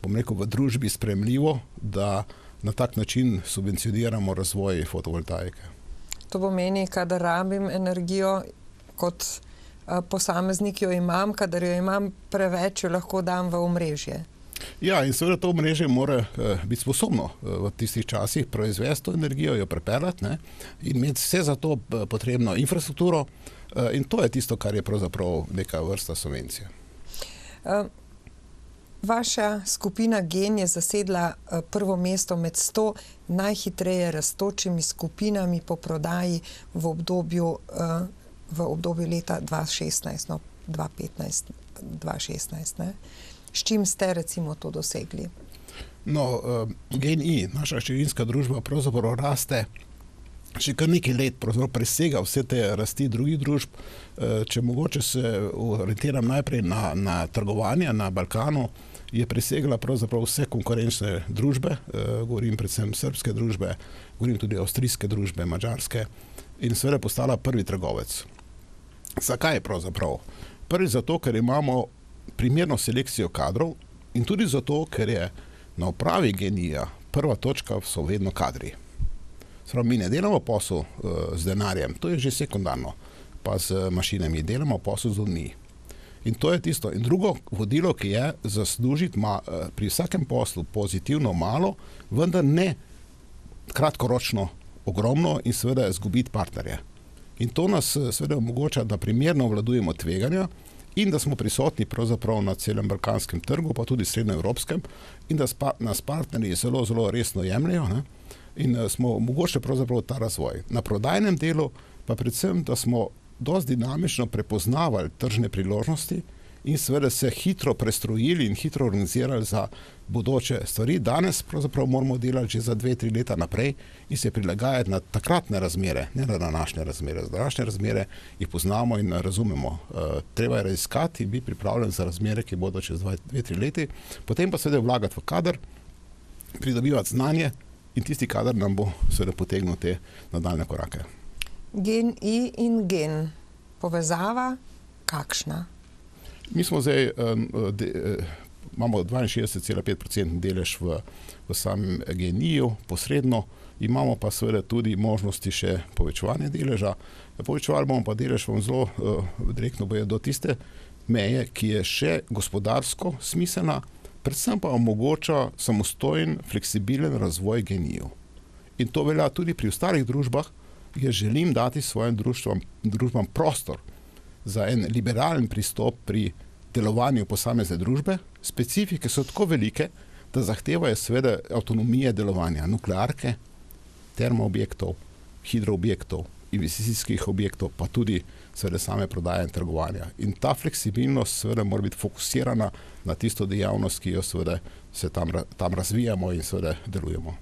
bom rekel, v družbi sprejemljivo, da na tak način subvencioniramo razvoj fotovoltaike. To pomeni, kadar rabim energijo, kot posameznik jo imam, kadar jo imam preveč, jo lahko dam v omrežje. Ja, in seveda to omrežje mora uh, biti sposobno uh, v tistih časih proizvesti to energijo, jo prepeljati, ne, in imeti vse za to uh, potrebno infrastrukturo, uh, in to je tisto, kar je pravzaprav neka vrsta subvencije. Uh, vaša skupina Gen je zasedla uh, prvo mesto med sto najhitreje rastočimi skupinami po prodaji v obdobju, uh, v obdobju leta dva šestnajst, no, dva petnajst, dva šestnajst, ne? S čim ste recimo to dosegli? No, uh, GenI, naša hčerinska družba, pravzaprav raste še kar nekaj let, pravzaprav presega vse te rasti drugih družb. Uh, če mogoče se orientiram najprej na, na trgovanje na Balkanu, je presegla pravzaprav vse konkurenčne družbe, uh, govorim predvsem srbske družbe, govorim tudi avstrijske družbe, madžarske, in seveda postala prvi trgovec. Zakaj pravzaprav? Prvi zato, ker imamo primerno selekcijo kadrov, in tudi zato, ker je na upravi GenI-ja prva točka so vedno kadri. Sprav, mi ne delamo posel uh, z denarjem, to je že sekundarno, pa z mašinami, delamo posel z ljudmi. In to je tisto. In drugo vodilo, ki je zaslužiti ma, uh, pri vsakem poslu pozitivno malo, vendar ne kratkoročno ogromno in seveda izgubiti partnerje. In to nas seveda omogoča, da primerno obvladujemo tveganja in da smo prisotni pravzaprav na celem balkanskem trgu, pa tudi srednjeevropskem, in da spa, nas partnerji zelo, zelo resno jemljajo, ne? In smo omogočili pravzaprav ta razvoj. Na prodajnem delu pa predvsem, da smo dosti dinamično prepoznavali tržne priložnosti in seveda se hitro prestrojili in hitro organizirali za bodoče stvari. Danes pravzaprav moramo delati že za dve, tri leta naprej in se prilagajati na takratne razmere, ne na današnje razmere. Današnje razmere jih poznamo in razumemo. E, treba je raziskati in biti pripravljen za razmere, ki bodo čez dve, tri leti. Potem pa seveda vlagati v kader, pridobivati znanje in tisti kader nam bo seveda potegnil te nadaljne korake. GenI in Gen. Povezava kakšna? Mi smo zdaj, de, imamo dvainšestdeset cela pet procenta delež v, v samem GenI-ju, posredno, imamo pa seveda tudi možnosti še povečevanja deleža. Povečevali bomo pa delež vam zelo direktno boje do tiste meje, ki je še gospodarsko smiselna, predvsem pa omogoča samostojen, fleksibilen razvoj GenI-ju. In to velja tudi pri ostalih družbah, jaz želim dati svojim družbam, družbam prostor za en liberalen pristop pri delovanju posamezne družbe. Specifike so tako velike, da zahtevajo seveda avtonomije delovanja nuklearke, termoobjektov, hidroobjektov, investicijskih objektov, pa tudi seveda same prodaje in trgovanja. In ta fleksibilnost seveda mora biti fokusirana na tisto dejavnost, ki jo seveda se tam, tam razvijamo in seveda delujemo.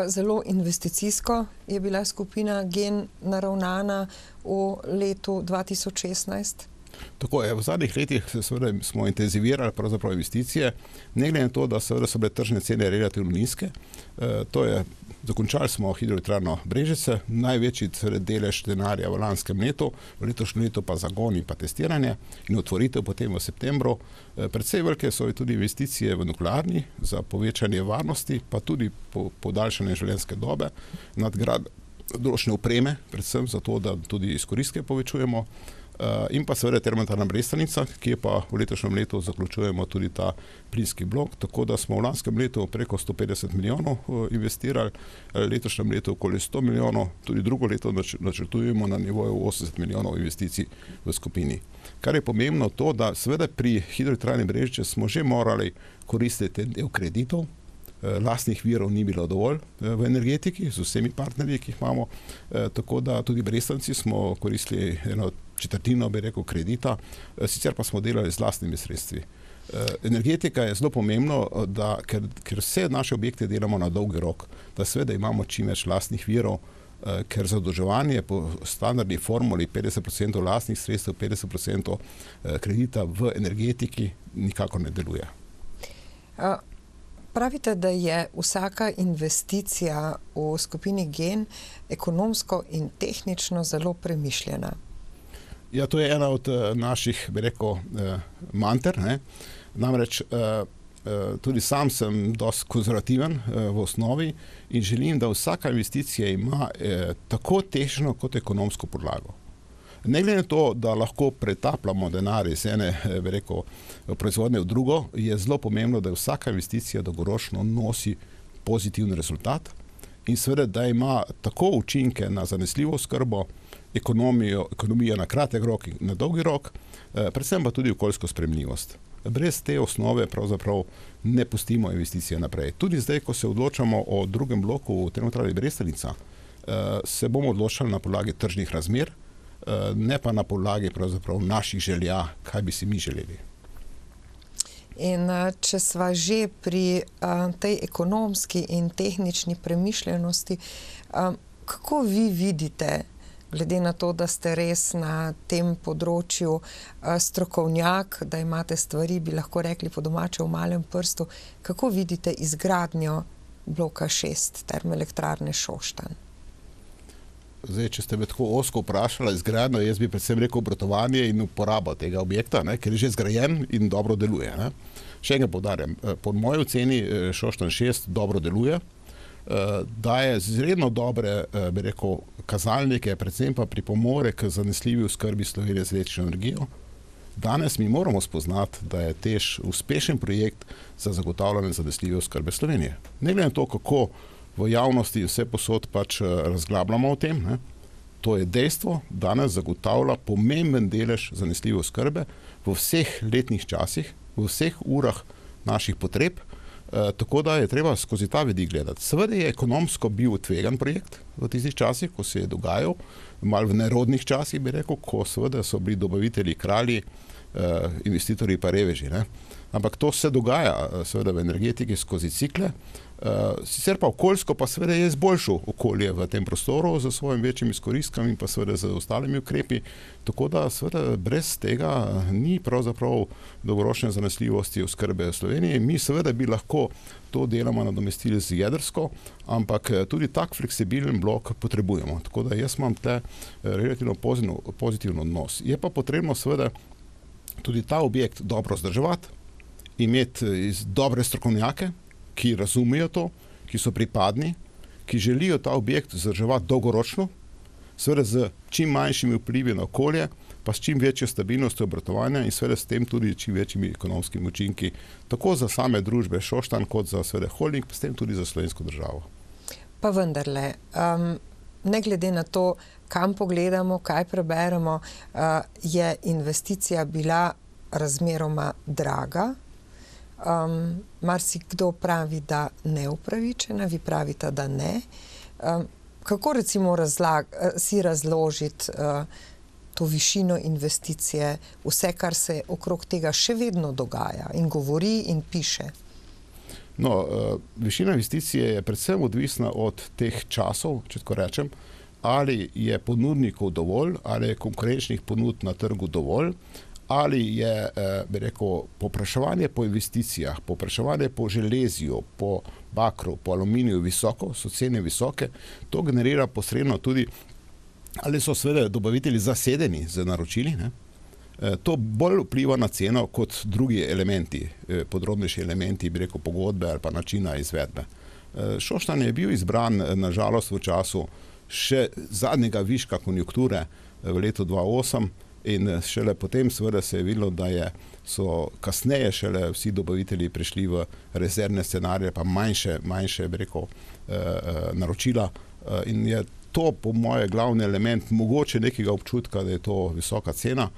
Zelo investicijsko je bila skupina Gen naravnana v letu dva tisoč šestnajst. Tako je, v zadnjih letih seveda smo intenzivirali pravzaprav investicije, ne glede na to, da seveda so bile tržne cene relativno nizke. E, to je, dokončali smo hidroelektrarno Brežice, največji delež denarja v lanskem letu, v letošnjem letu pa zagon in pa testiranje in otvoritev potem v septembru. E, predvsej velike so tudi investicije v nuklearni za povečanje varnosti, pa tudi po, podaljšanje življenjske dobe, nadgrad določene opreme, predvsem zato, da tudi izkoristke povečujemo. Uh, in pa seveda termoelektrarna Brestanica, ki je pa v letošnjem letu zaključujemo tudi ta plinski blok, tako da smo v lanskem letu preko sto petdeset milijonov uh, investirali, letošnjem letu okoli sto milijonov, tudi drugo leto nač načrtujemo na nivoju osemdeset milijonov investicij v skupini. Kar je pomembno to, da seveda pri hidroelektrarni Brežice smo že morali koristiti del kreditov, lastnih virov ni bilo dovolj v energetiki z vsemi partnerji, ki jih imamo, tako da tudi Brestanci smo koristili eno četrtino, bi rekel, kredita, sicer pa smo delali z lastnimi sredstvi. Energetika je zelo pomembno, da, ker, ker vse naše objekte delamo na dolgi rok, da seveda imamo čim več lastnih virov, ker zadolževanje po standardni formuli petdeset procentov lastnih sredstev, petdeset procentov kredita v energetiki nikako ne deluje. A pravite, da je vsaka investicija v skupini Gen ekonomsko in tehnično zelo premišljena. Ja, to je ena od uh, naših, bi rekel, uh, manter, ne? Namreč uh, Tudi sam sem dosti konzervativen v osnovi in želim, da vsaka investicija ima tako tehnično kot ekonomsko podlago. Ne glede na to, da lahko pretapljamo denar iz ene, bi rekel, proizvodnje v drugo, je zelo pomembno, da vsaka investicija dolgoročno nosi pozitiven rezultat in seveda, da ima tako učinke na zanesljivo oskrbo, ekonomijo, ekonomijo na kratek rok in na dolgi rok, predvsem pa tudi okoljsko sprejemljivost. Brez te osnove pravzaprav ne pustimo investicije naprej. Tudi zdaj, ko se odločamo o drugem bloku v Termoelektrarni Brestanica, se bomo odločali na podlagi tržnih razmer, ne pa na podlagi pravzaprav naših želja, kaj bi si mi želeli. In če sva že pri tej ekonomski in tehnični premišljenosti, kako vi vidite, glede na to, da ste res na tem področju strokovnjak, da imate stvari, bi lahko rekli po domače v malem prstu, kako vidite izgradnjo bloka šest Termoelektrarne Šoštanj? Zdaj, če ste me tako ozko vprašala izgradnjo, jaz bi predvsem rekel obratovanje in uporabo tega objekta, ne, ker je že zgrajen in dobro deluje. Ne. Še enkrat poudarjam, po moji oceni Šoštanj šest dobro deluje, daje izredno dobre, bi rekel, kazalnike, predvsem pa pripomore k zanesljivi oskrbi Slovenije z električno energijo. Danes mi moramo spoznati, da je TEŠ uspešen projekt za zagotavljanje zanesljive oskrbe Slovenije. Ne glede na to, kako v javnosti vse posod pač razglabljamo o tem, ne? To je dejstvo, danes zagotavlja pomemben delež zanesljive oskrbe v vseh letnih časih, v vseh urah naših potreb, e, tako da je treba skozi ta vidik gledati. Seveda je ekonomsko bil tvegan projekt v tistih časih, ko se je dogajal, malo v nerodnih časih bi rekel, ko seveda so bili dobavitelji kralji, e, investitorji pa reveži, ne? Ampak to se dogaja seveda v energetiki skozi cikle. Uh, sicer pa okoljsko pa seveda je izboljšal okolje v tem prostoru z svojim večjim izkoristkami in pa seveda z ostalimi ukrepi, tako da seveda brez tega ni pravzaprav dolgoročne zanesljivosti oskrbe v Sloveniji. Mi seveda bi lahko to deloma nadomestili z jedrsko, ampak tudi tak fleksibilen blok potrebujemo, tako da jaz imam tle relativno pozitivno odnos. Je pa potrebno seveda tudi ta objekt dobro vzdrževati, imeti dobre strokovnjake, ki razumejo to, ki so pripadni, ki želijo ta objekt vzdrževati dolgoročno, seveda z čim manjšimi vplivi na okolje, pa s čim večjo stabilnostjo obratovanja in seveda s tem tudi čim večjimi ekonomskimi učinki, tako za same družbe Šoštanj, kot za seveda holding, pa s tem tudi za slovensko državo. Pa vendarle, um, ne glede na to, kam pogledamo, kaj preberemo, uh, je investicija bila razmeroma draga. Um, marsikdo pravi, da neupravičena, vi pravite, da ne. Um, kako recimo razlag, si razložiti uh, to višino investicije, vse, kar se okrog tega še vedno dogaja in govori in piše? No, uh, višina investicije je predvsem odvisna od teh časov, če tako rečem, ali je ponudnikov dovolj, ali je konkurenčnih ponudb na trgu dovolj, ali je, bi rekel, povpraševanje po investicijah, povpraševanje po železju, po bakru, po aluminiju visoko, so cene visoke, to generira posredno tudi, ali so seveda dobavitelji zasedeni z naročili, ne? To bolj vpliva na ceno kot drugi elementi, podrobnejši elementi, bi rekel, pogodbe ali pa načina izvedbe. Šoštanj je bil izbran, nažalost, v času še zadnjega viška konjunkture v letu dva tisoč osem, in šele potem seveda se je videlo, da je, so kasneje šele vsi dobavitelji prišli v rezervne scenarije, pa manjše, manjše, bi rekel, eh, naročila. Eh, in je to po moje glavni element mogoče nekega občutka, da je to visoka cena.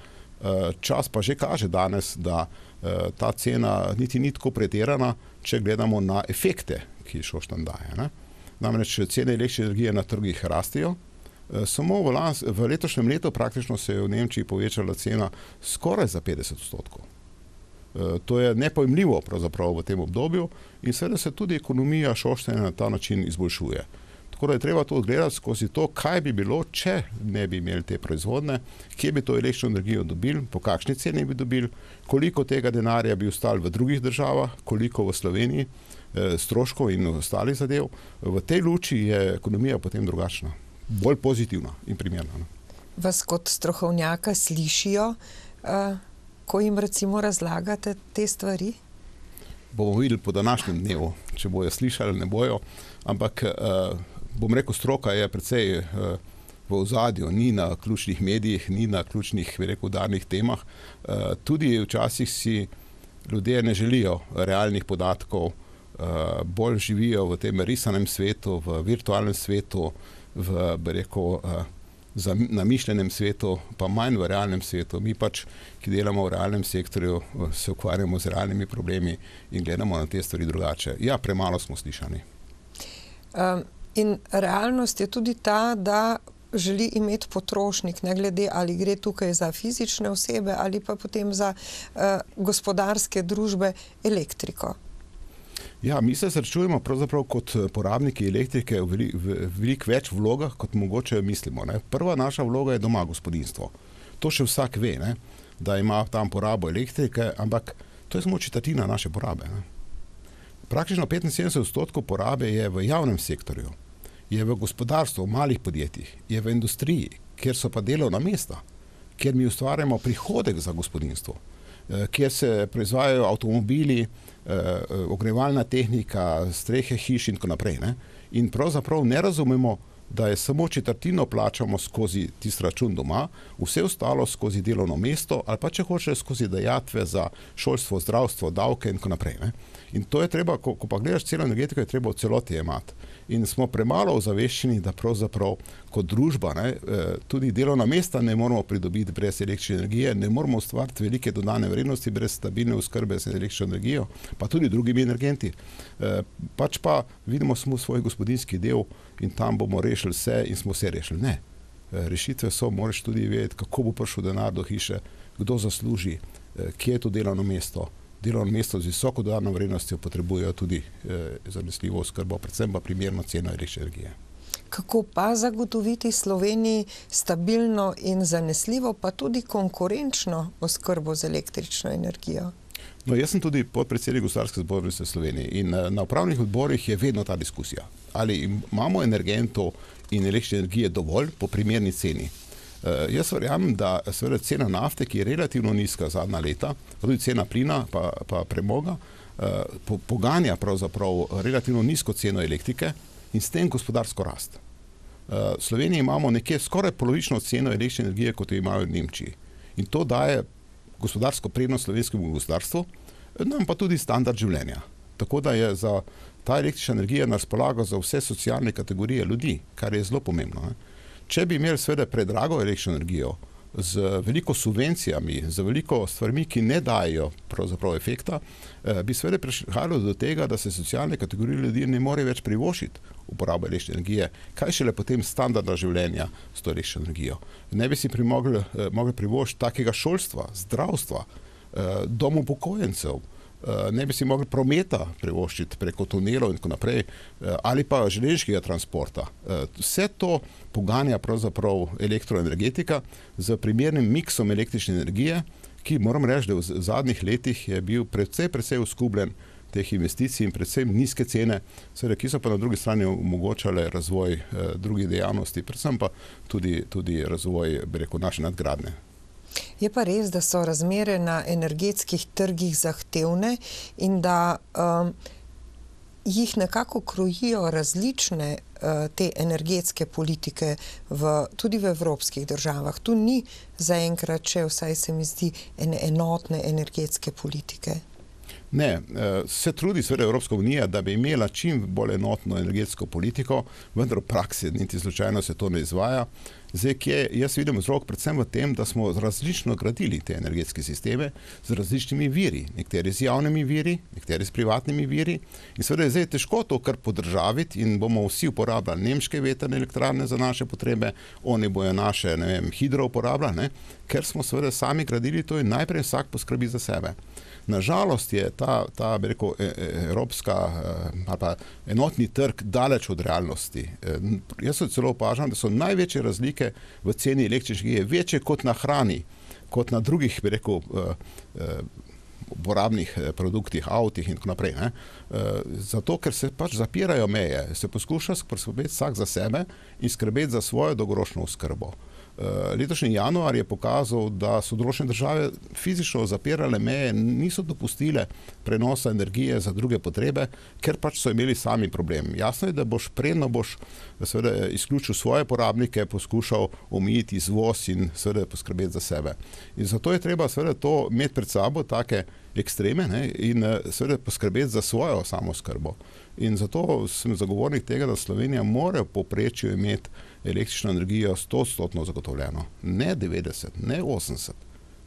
Eh, čas pa že kaže danes, da eh, ta cena niti ni tako pretirana, če gledamo na efekte, ki Šoštanj daje, ne? Namreč cene električne energije na trgih rastejo. Samo v, lans, v letošnjem letu praktično se je v Nemčiji povečala cena skoraj za petdeset odstotkov. E, to je nepojmljivo pravzaprav v tem obdobju in seveda se tudi ekonomija Šoštanja na ta način izboljšuje. Tako da je treba to odgledati skozi to, kaj bi bilo, če ne bi imeli te proizvodne, kje bi to električno energijo dobili, po kakšni ceni bi dobili, koliko tega denarja bi ostalo v drugih državah, koliko v Sloveniji, e, stroškov in ostalih zadev. V tej luči je ekonomija potem drugačna. Bolj pozitivna in primerna. Vas kot strokovnjaka slišijo, uh, ko jim recimo razlagate te stvari? bomo videli po današnjem dnevu, če bojo slišali, ne bojo, ampak bom rekel, stroka je precej v ozadju, ni na ključnih medijih, ni na ključnih, bi rekel, udarnih temah. Tudi včasih si ljudje ne želijo realnih podatkov, bolj živijo v tem risanem svetu, v virtualnem svetu, v, bi rekel, namišljenem svetu, pa manj v realnem svetu. Mi pač, ki delamo v realnem sektorju, se ukvarjamo z realnimi problemi in gledamo na te stvari drugače. Ja, premalo smo slišani. Um, in realnost je tudi ta, da želi imeti potrošnik, ne glede ali gre tukaj za fizične osebe ali pa potem za uh, gospodarske družbe elektriko. Ja, mi se srečujemo pravzaprav kot porabniki elektrike v, veli, v veliko več vlogah, kot mogoče mislimo. Ne. Prva naša vloga je doma gospodinjstvo. To še vsak ve, ne, da ima tam porabo elektrike, ampak to je samo četrtina naše porabe. Ne. Praktično petinsedemdeset odstotkov porabe je v javnem sektorju, je v gospodarstvu, v malih podjetjih, je v industriji, kjer so pa delovna mesta, kjer mi ustvarjamo prihodek za gospodinjstvo, kjer se proizvajajo avtomobili, ogrevalna tehnika, strehe hiš in tako naprej. Ne? In pravzaprav ne razumemo, da je samo četrtino plačamo skozi tisti račun doma, vse ostalo skozi delovno mesto ali pa če hoče skozi dajatve za šolstvo, zdravstvo, davke in tako naprej. Ne? In to je treba, ko, ko pa gledaš celo energetiko, je treba v celoti jemati. In smo premalo ozaveščeni, da pravzaprav kot družba, ne, tudi delovna mesta ne moramo pridobiti brez električne energije, ne moramo ustvariti velike dodane vrednosti brez stabilne oskrbe z električno energijo, pa tudi drugimi energenti. Pač pa vidimo smo svoj gospodinjski del in tam bomo rešili vse in smo vse rešili. Ne. Rešitve so, moraš tudi vedeti, kako bo prišel denar do hiše, kdo zasluži, kje je to delovno mesto. Delovno mesto z visoko dodano vrednostjo potrebujejo tudi eh, zanesljivo oskrbo, predvsem pa primerno ceno električne energije. Kako pa zagotoviti Sloveniji stabilno in zanesljivo, pa tudi konkurenčno oskrbo z električno energijo? No, jaz sem tudi podpredsednik Gospodarske zbornice Slovenije in na upravnih odborih je vedno ta diskusija. Ali imamo energentov in električne energije dovolj po primerni ceni? Uh, jaz verjamem, da seveda cena nafte, ki je relativno nizka zadnja leta, pa tudi cena plina pa, pa premoga, uh, po, poganja pravzaprav relativno nizko ceno elektrike in s tem gospodarsko rast. Uh, v Sloveniji imamo nekje skoraj polovično ceno električne energije, kot jo imajo v Nemčiji. In to daje gospodarsko prednost slovenskemu gospodarstvu, nam pa tudi standard življenja. Tako da je za ta električna energija na razpolago za vse socialne kategorije ljudi, kar je zelo pomembno. Ne? Če bi imeli seveda predrago električno energijo z veliko subvencijami, z veliko stvarmi, ki ne dajo pravzaprav efekta, bi seveda prihajalo do tega, da se socialne kategorije ljudi ne more več privoščiti uporabo električne energije. Kaj šele potem standardna življenja s to električno energijo? Ne bi si primogli, mogli privoščiti takega šolstva, zdravstva, dom upokojencev, ne bi si mogli prometa privoščiti preko tunelov in tako naprej, ali pa železniškega transporta. Vse to poganja pravzaprav elektroenergetika z primernim miksom električne energije, ki moram reči, da v zadnjih letih je bil precej, precej uskubljen teh investicij in predvsem nizke cene, seveda, ki so pa na drugi strani omogočale razvoj drugih dejavnosti, predvsem pa tudi, tudi razvoj, bi rekel, naše nadgradnje. Je pa res, da so razmere na energetskih trgih zahtevne in da um, jih nekako krojijo različne uh, te energetske politike v, tudi v evropskih državah. Tu ni zaenkrat še, vsaj se mi zdi, ene enotne energetske politike. Ne, se trudi seveda Evropska unija, da bi imela čim bolj enotno energetsko politiko, vendar v praksi niti slučajno se to ne izvaja. Zdaj, kje jaz vidim vzrok predvsem v tem, da smo različno gradili te energetske sisteme z različnimi viri, nekateri z javnimi viri, nekateri s privatnimi viri. In seveda je zdaj težko to kar podržaviti in bomo vsi uporabljali nemške vetrne elektrarne za naše potrebe, oni bojo naše, ne vem, hidro uporabljali, ne? Ker smo seveda sami gradili to in najprej vsak poskrbi za sebe. Nažalost je ta, ta bi rekel, evropska ali pa enotni trg daleč od realnosti. Jaz se celo opažam, da so največje razlike v ceni električne energije večje kot na hrani, kot na drugih, bi rekel, uporabnih produktih, avtih in tako naprej. Ne? Zato, ker se pač zapirajo meje, se poskuša poskrbeti vsak za sebe in skrbeti za svojo dolgoročno oskrbo. Letošnji januar je pokazal, da so določene države fizično zapirale meje, niso dopustile prenosa energije za druge potrebe, ker pač so imeli sami problem. Jasno je, da boš predno boš seveda izključil svoje porabnike, poskušal omejiti izvoz in seveda poskrbeti za sebe. In zato je treba seveda to imeti pred sabo, take ekstreme, ne, in seveda poskrbeti za svojo samoskrbo. In zato sem zagovornik tega, da Slovenija mora v povprečju imeti električno energijo sto odstotno zagotovljeno. Ne devetdeset, ne osemdeset.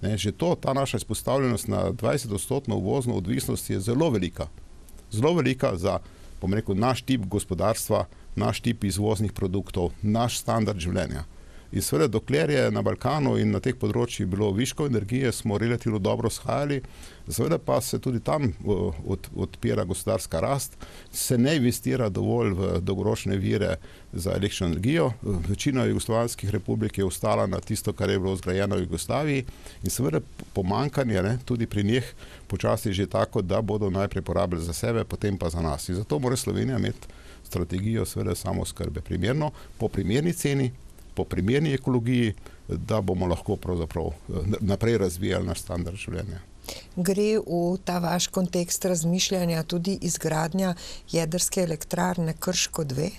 Ne, že to, ta naša izpostavljenost na dvajset odstotno uvozno odvisnost je zelo velika. Zelo velika za, bom rekel, naš tip gospodarstva, naš tip izvoznih produktov, naš standard življenja. In seveda, dokler je na Balkanu in na teh področjih bilo viško energije, smo relativno dobro shajali, seveda pa se tudi tam od, odpira gospodarska rast, se ne investira dovolj v dolgoročne vire za električno energijo. Večina jugoslovanskih republik je ostala na tisto, kar je bilo zgrajeno v Jugoslaviji, in seveda pomanjkanje, ne, tudi pri njih počasi že tako, da bodo najprej porabili za sebe, potem pa za nas. In zato mora Slovenija imeti strategijo seveda samoskrbe primerno, po primerni ceni, po primerni ekologiji, da bomo lahko pravzaprav naprej razvijali naš standard življenja. Gre v ta vaš kontekst razmišljanja tudi izgradnja jedrske elektrarne Krško dve?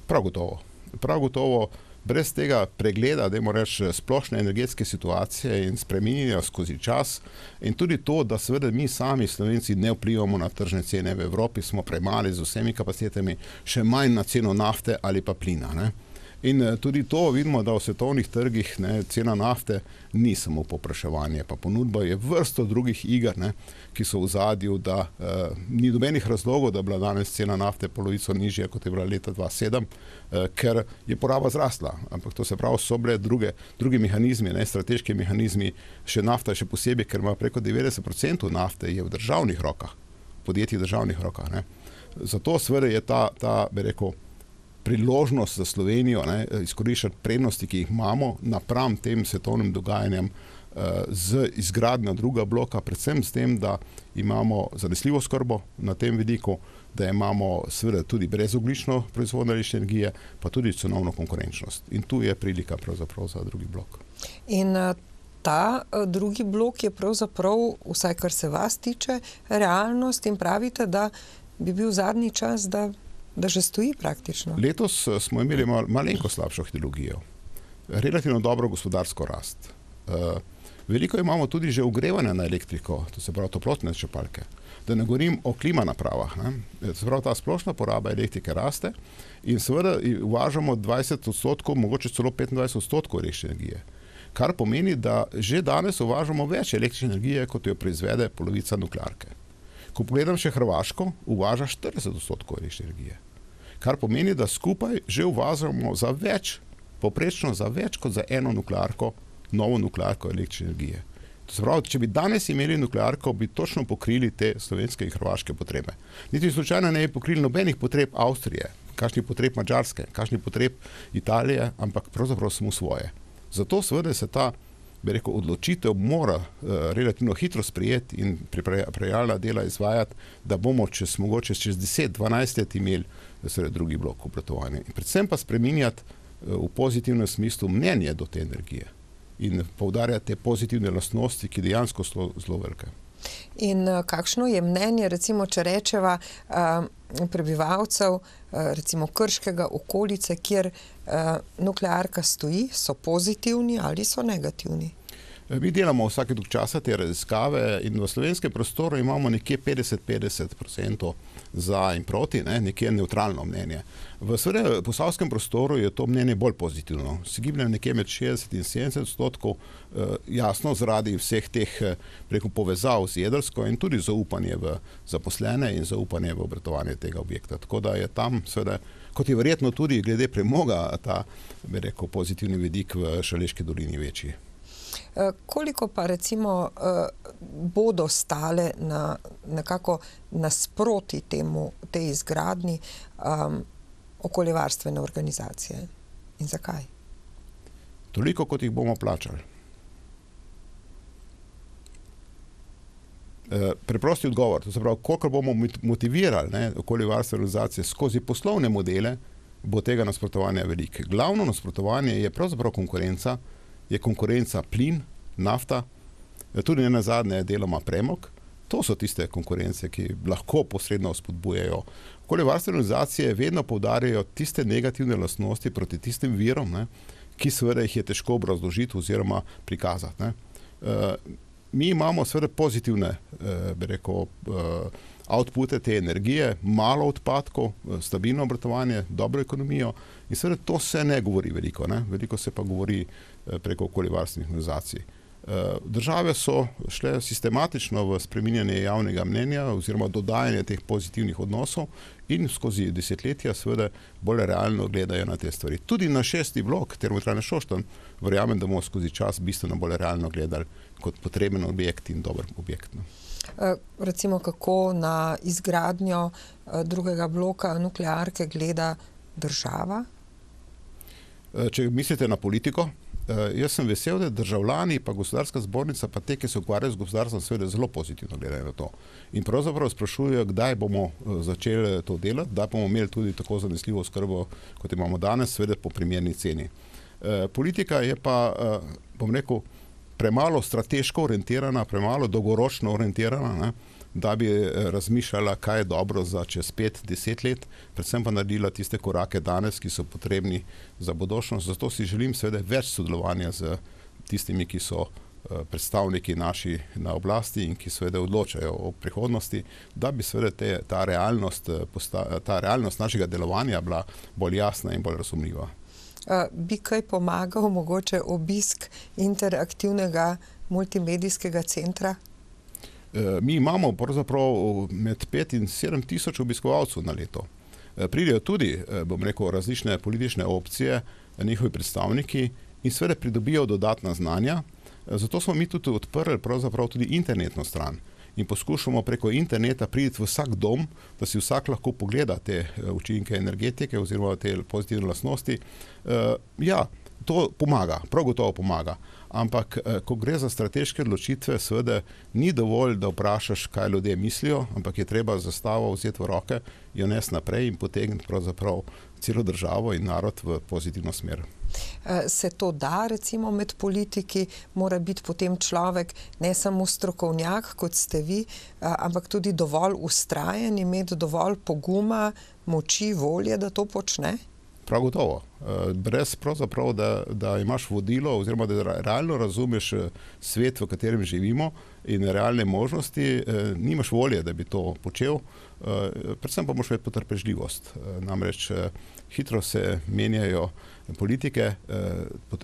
Prav gotovo. Prav gotovo, brez tega pregleda, dajmo reči, splošne energetske situacije in spreminjanja skozi čas, in tudi to, da seveda mi sami Slovenci ne vplivamo na tržne cene v Evropi, smo premali z vsemi kapacitetami, še manj na ceno nafte ali pa plina, ne. In tudi to vidimo, da v svetovnih trgih, ne, cena nafte ni samo povpraševanje, pa ponudba je vrsto drugih iger, ne, ki so v zadju, da eh, ni nobenih razlogov, da je bila danes cena nafte polovico nižja, kot je bila leta dva tisoč sedem, eh, ker je poraba zrasla. Ampak to se pravi, so bile druge, drugi mehanizmi, ne, strateški mehanizmi, še nafta še posebej, ker ima preko devetdeset procentov nafte je v državnih rokah, podjetjih državnih rokah, ne. Zato seveda je ta, ta, bi rekel, priložnost za Slovenijo, ne, izkoriščati prednosti, ki jih imamo napram tem svetovnim dogajanjem eh, z izgradnjo druga bloka, predvsem s tem, da imamo zanesljivo oskrbo na tem vidiku, da imamo seveda tudi brezogljično proizvodnjo električne energije, pa tudi cenovno konkurenčnost. In tu je prilika pravzaprav za drugi blok. In ta drugi blok je pravzaprav, vsaj kar se vas tiče, realnost, in pravite, da bi bil zadnji čas, da da že stoji praktično. Letos smo imeli mal, malenko slabšo hidrologijo. Relativno dobro gospodarsko rast. Uh, veliko imamo tudi že ogrevanja na elektriko, to se pravi toplotne črpalke. Da ne govorim o klima napravah. Ne? Se pravi, ta splošna poraba elektrike raste in seveda uvažamo dvajset odstotkov, mogoče celo petindvajset odstotkov električne energije. Kar pomeni, da že danes uvažamo več električne energije, kot jo proizvede polovica nuklearke. Ko pogledam še Hrvaško, uvaža štirideset odstotkov električne energije. Kar pomeni, da skupaj že uvažamo za več, povprečno za več kot za eno nuklearko, novo nuklearko električne energije. To se pravi, če bi danes imeli nuklearko, bi točno pokrili te slovenske in hrvaške potrebe. Niti slučajno ne bi pokrili nobenih potreb Avstrije, kakšnih potreb Madžarske, kakšnih potreb Italije, ampak pravzaprav samo svoje. Zato seveda se ta, bi rekel, odločitev mora uh, relativno hitro sprejeti in pripravljalna dela izvajati, da bomo čez mogoče čez deset dvanajst let imeli seveda drugi blok obratovanja. In predvsem pa spreminjati uh, v pozitivnem smislu mnenje do te energije in poudarjati te pozitivne lastnosti, ki dejansko so zelo velike. In uh, kakšno je mnenje, recimo, če rečeva uh, prebivalcev, uh, recimo Krškega, okolice, kjer uh, nuklearka stoji, so pozitivni ali so negativni? Mi delamo vsake dolg časa te raziskave in v slovenskem prostoru imamo nekje petdeset petdeset procentov za in proti, ne, nekje neutralno mnenje. V seveda posavskem prostoru je to mnenje bolj pozitivno. Se giblje nekje med šestdeset in sedemdeset odstotkov, eh, jasno zaradi vseh teh preko povezav z jedrsko in tudi zaupanje v zaposlene in zaupanje v obratovanje tega objekta. Tako da je tam seveda, kot je verjetno tudi glede premoga, ta, bi rekel, pozitivni vidik v Šaleški dolini večji. Koliko pa recimo bodo stale na nekako nasproti temu, tej izgradnji um, okoljevarstvene organizacije in zakaj? Toliko, kot jih bomo plačali. E, preprosti odgovor, to se pravi, koliko bomo motivirali, ne, okoljevarstvene organizacije skozi poslovne modele, bo tega nasprotovanja veliko. Glavno nasprotovanje je pravzaprav konkurenca je konkurenca plin, nafta, tudi ne nazadnje deloma premog. To so tiste konkurence, ki lahko posredno spodbujajo. Okoljevarstvene organizacije vedno poudarjajo tiste negativne lastnosti proti tistim virom, ne, ki seveda jih je težko obrazložiti oziroma prikazati. Ne. Uh, mi imamo seveda pozitivne uh, bi rekel, uh, outpute te energije, malo odpadkov, stabilno obratovanje, dobro ekonomijo in seveda to se ne govori veliko, ne. Veliko se pa govori uh, preko okoljevarstvenih organizacij. Države so šle sistematično v spreminjanje javnega mnenja oziroma dodajanje teh pozitivnih odnosov in skozi desetletja seveda bolj realno gledajo na te stvari. Tudi na šesti blok Termoelektrarne Šoštanj verjamem, da bomo skozi čas bistveno bolj realno gledali kot potreben objekt in dober objekt. Recimo, kako na izgradnjo drugega bloka nuklearke gleda država? Če mislite na politiko, jaz sem vesel, da državljani pa gospodarska zbornica pa te, ki se ukvarjajo z gospodarstvom, seveda zelo pozitivno gledajo na to. In pravzaprav sprašujejo, kdaj bomo začeli to delati, da bomo imeli tudi tako zanesljivo oskrbo, kot imamo danes, seveda po primerni ceni. Politika je pa, bom rekel, premalo strateško orientirana, premalo dolgoročno orientirana, ne, da bi razmišljala, kaj je dobro za čez pet, deset let, predvsem pa naredila tiste korake danes, ki so potrebni za bodočnost. Zato si želim seveda več sodelovanja z tistimi, ki so predstavniki naši na oblasti in ki seveda odločajo o prihodnosti, da bi seveda te, ta, realnost, ta realnost našega delovanja bila bolj jasna in bolj razumljiva. Bi kaj pomagal mogoče obisk interaktivnega multimedijskega centra? Mi imamo pravzaprav med pet in sedem tisoč obiskovalcev na leto. Pridejo tudi, bom rekel, različne politične opcije, njihovi predstavniki in seveda pridobijo dodatna znanja. Zato smo mi tudi odprli pravzaprav tudi internetno stran in poskušamo preko interneta priti v vsak dom, da si vsak lahko pogleda te učinke energetike oziroma te pozitivne lastnosti. Ja, to pomaga, prav gotovo pomaga. Ampak, ko gre za strateške odločitve, seveda ni dovolj, da vprašaš, kaj ljudje mislijo, ampak je treba zastavo vzeti v roke, jo nesti naprej in potegniti pravzaprav celo državo in narod v pozitivno smer. Se to da, recimo, med politiki, mora biti potem človek ne samo strokovnjak, kot ste vi, ampak tudi dovolj vztrajen, imeti dovolj poguma, moči, volje, da to počne? Prav gotovo. Brez pravzaprav, da, da imaš vodilo oziroma da realno razumeš svet, v katerem živimo in realne možnosti, nimaš volje, da bi to počel. Predvsem pa moraš imeti potrpežljivost. Namreč hitro se menjajo politike,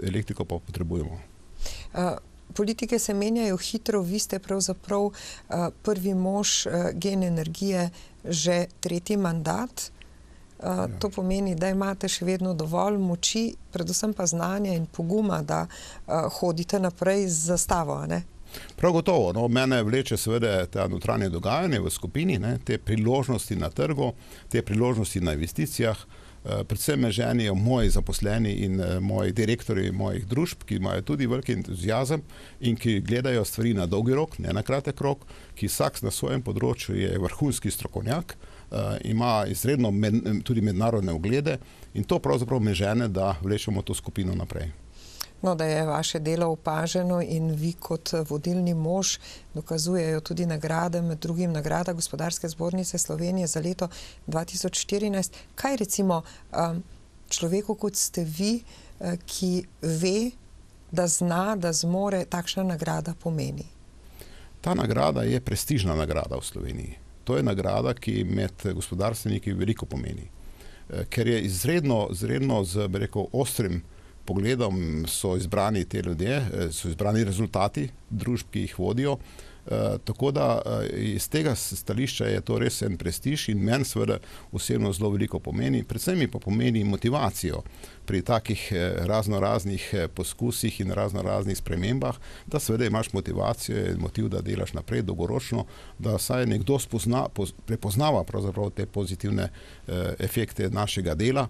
elektriko pa potrebujemo. Politike se menjajo hitro, vi ste pravzaprav prvi mož Gen energije že tretji mandat. Uh, to pomeni, da imate še vedno dovolj moči, predvsem pa znanja in poguma, da uh, hodite naprej z zastavo, ne? Prav gotovo. No, mene vleče seveda ta notranje dogajanje v skupini, ne, te priložnosti na trgu, te priložnosti na investicijah. Uh, predvsem me ženijo moji zaposleni in uh, moji direktorji mojih družb, ki imajo tudi veliki entuziazem in ki gledajo stvari na dolgi rok, ne na kratek rok, ki vsak na svojem področju je vrhunski strokovnjak, Uh, ima izredno med, tudi mednarodne uglede in to pravzaprav me žene, da vlečemo to skupino naprej. No, da je vaše delo opaženo in vi kot vodilni mož dokazujejo tudi nagrade, med drugim nagrada Gospodarske zbornice Slovenije za leto dva tisoč štirinajst. Kaj recimo um, človeku, kot ste vi, uh, ki ve, da zna, da zmore, takšna nagrada pomeni? Ta nagrada je prestižna nagrada v Sloveniji. To je nagrada, ki med gospodarstveniki veliko pomeni. Ker je izredno, izredno z, bi rekel, ostrim pogledom so izbrani te ljudje, so izbrani rezultati družb, ki jih vodijo. Tako da iz tega stališča je to res en prestiž in meni seveda osebno zelo veliko pomeni. Predvsem mi pa pomeni motivacijo pri takih razno raznih poskusih in razno raznih spremembah, da seveda imaš motivacijo in motiv, da delaš naprej dolgoročno, da saj nekdo spozna, prepoznava pravzaprav te pozitivne efekte našega dela.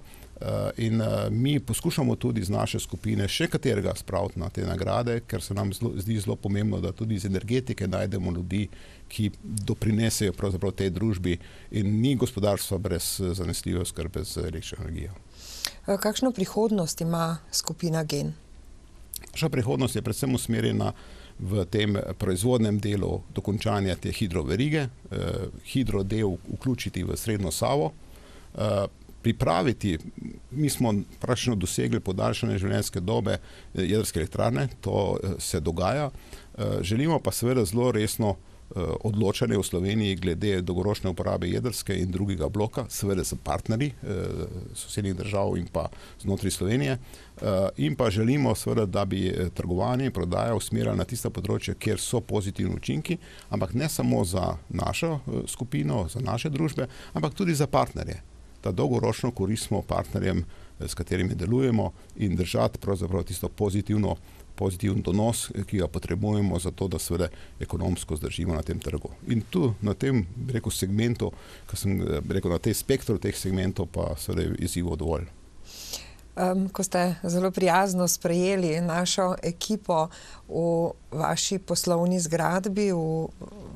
In mi poskušamo tudi z naše skupine še katerega spraviti na te nagrade, ker se nam zlo, zdi zelo pomembno, da tudi iz energetike najdemo ljudi, ki doprinesejo pravzaprav tej družbi in ni gospodarstva brez zanesljive oskrbe z električno energijo. Kakšno prihodnost ima skupina Gen? Naša prihodnost je predvsem usmerjena v tem proizvodnem delu dokončanja te hidroverige, eh, hidrodel vključiti v srednjo Savo, eh, pripraviti, mi smo praktično dosegli podaljšanje življenjske dobe jedrske elektrarne, to eh, se dogaja, eh, želimo pa seveda zelo resno odločanje v Sloveniji glede dolgoročne uporabe jedrske in drugega bloka, seveda s partnerji eh, sosednjih držav in pa znotraj Slovenije. Eh, in pa želimo seveda, da bi trgovanje in prodaja usmerjali na tista področja, kjer so pozitivni učinki, ampak ne samo za našo eh, skupino, za naše družbe, ampak tudi za partnerje. Da dolgoročno koristimo partnerjem, eh, s katerimi delujemo, in držati pravzaprav tisto pozitivno pozitiven donos, ki ga potrebujemo za to, da seveda ekonomsko zdržimo na tem trgu. In tu na tem, rekel, segmentu, ko sem rekel, na tej spektru teh segmentov pa seveda je izzivov dovolj. Um, ko ste zelo prijazno sprejeli našo ekipo v vaši poslovni zgradbi, v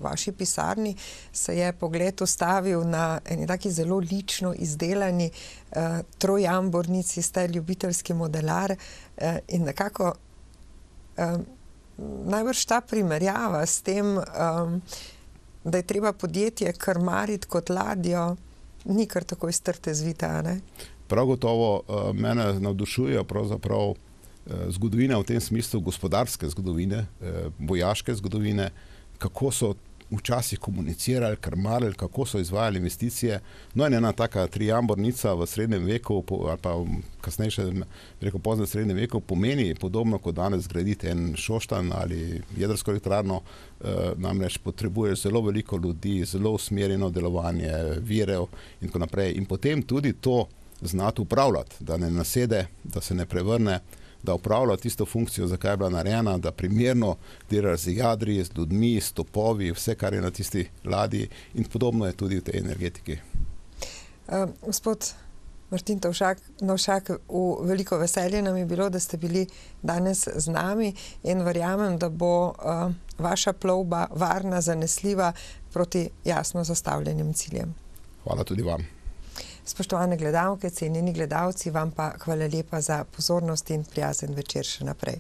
vaši pisarni, se je pogled ustavil na eni taki zelo lično izdelani uh, trojambornici, ste ljubiteljski modelar uh, in nekako Um, najbrž ta primerjava s tem, um, da je treba podjetje krmariti kot ladjo, ni kar tako iz trte zvita, ne? Prav gotovo uh, mene navdušuje pravzaprav uh, zgodovina v tem smislu, gospodarske zgodovine, uh, vojaške zgodovine, kako so včasih komunicirali, krmarili, kako so izvajali investicije. No in ena taka trijambornica v srednjem veku ali pa kasnejše, rekel poznem srednjem veku, pomeni podobno kot danes zgraditi en Šoštanj ali jedrsko elektrarno, eh, namreč potrebuje zelo veliko ljudi, zelo usmerjeno delovanje, virov in tako naprej. In potem tudi to znati upravljati, da ne nasede, da se ne prevrne, da upravlja tisto funkcijo, zakaj je bila narejena, da primerno dela z jadri, z ljudmi, s topovi, vse, kar je na tisti ladji, in podobno je tudi v tej energetiki. Uh, gospod Martin Tovšak, Novšak, v veliko veselje nam je bilo, da ste bili danes z nami in verjamem, da bo uh, vaša plovba varna, zanesljiva proti jasno zastavljenim ciljem. Hvala tudi vam. Spoštovane gledalke, cenjeni gledalci, vam pa hvala lepa za pozornost in prijazen večer še naprej.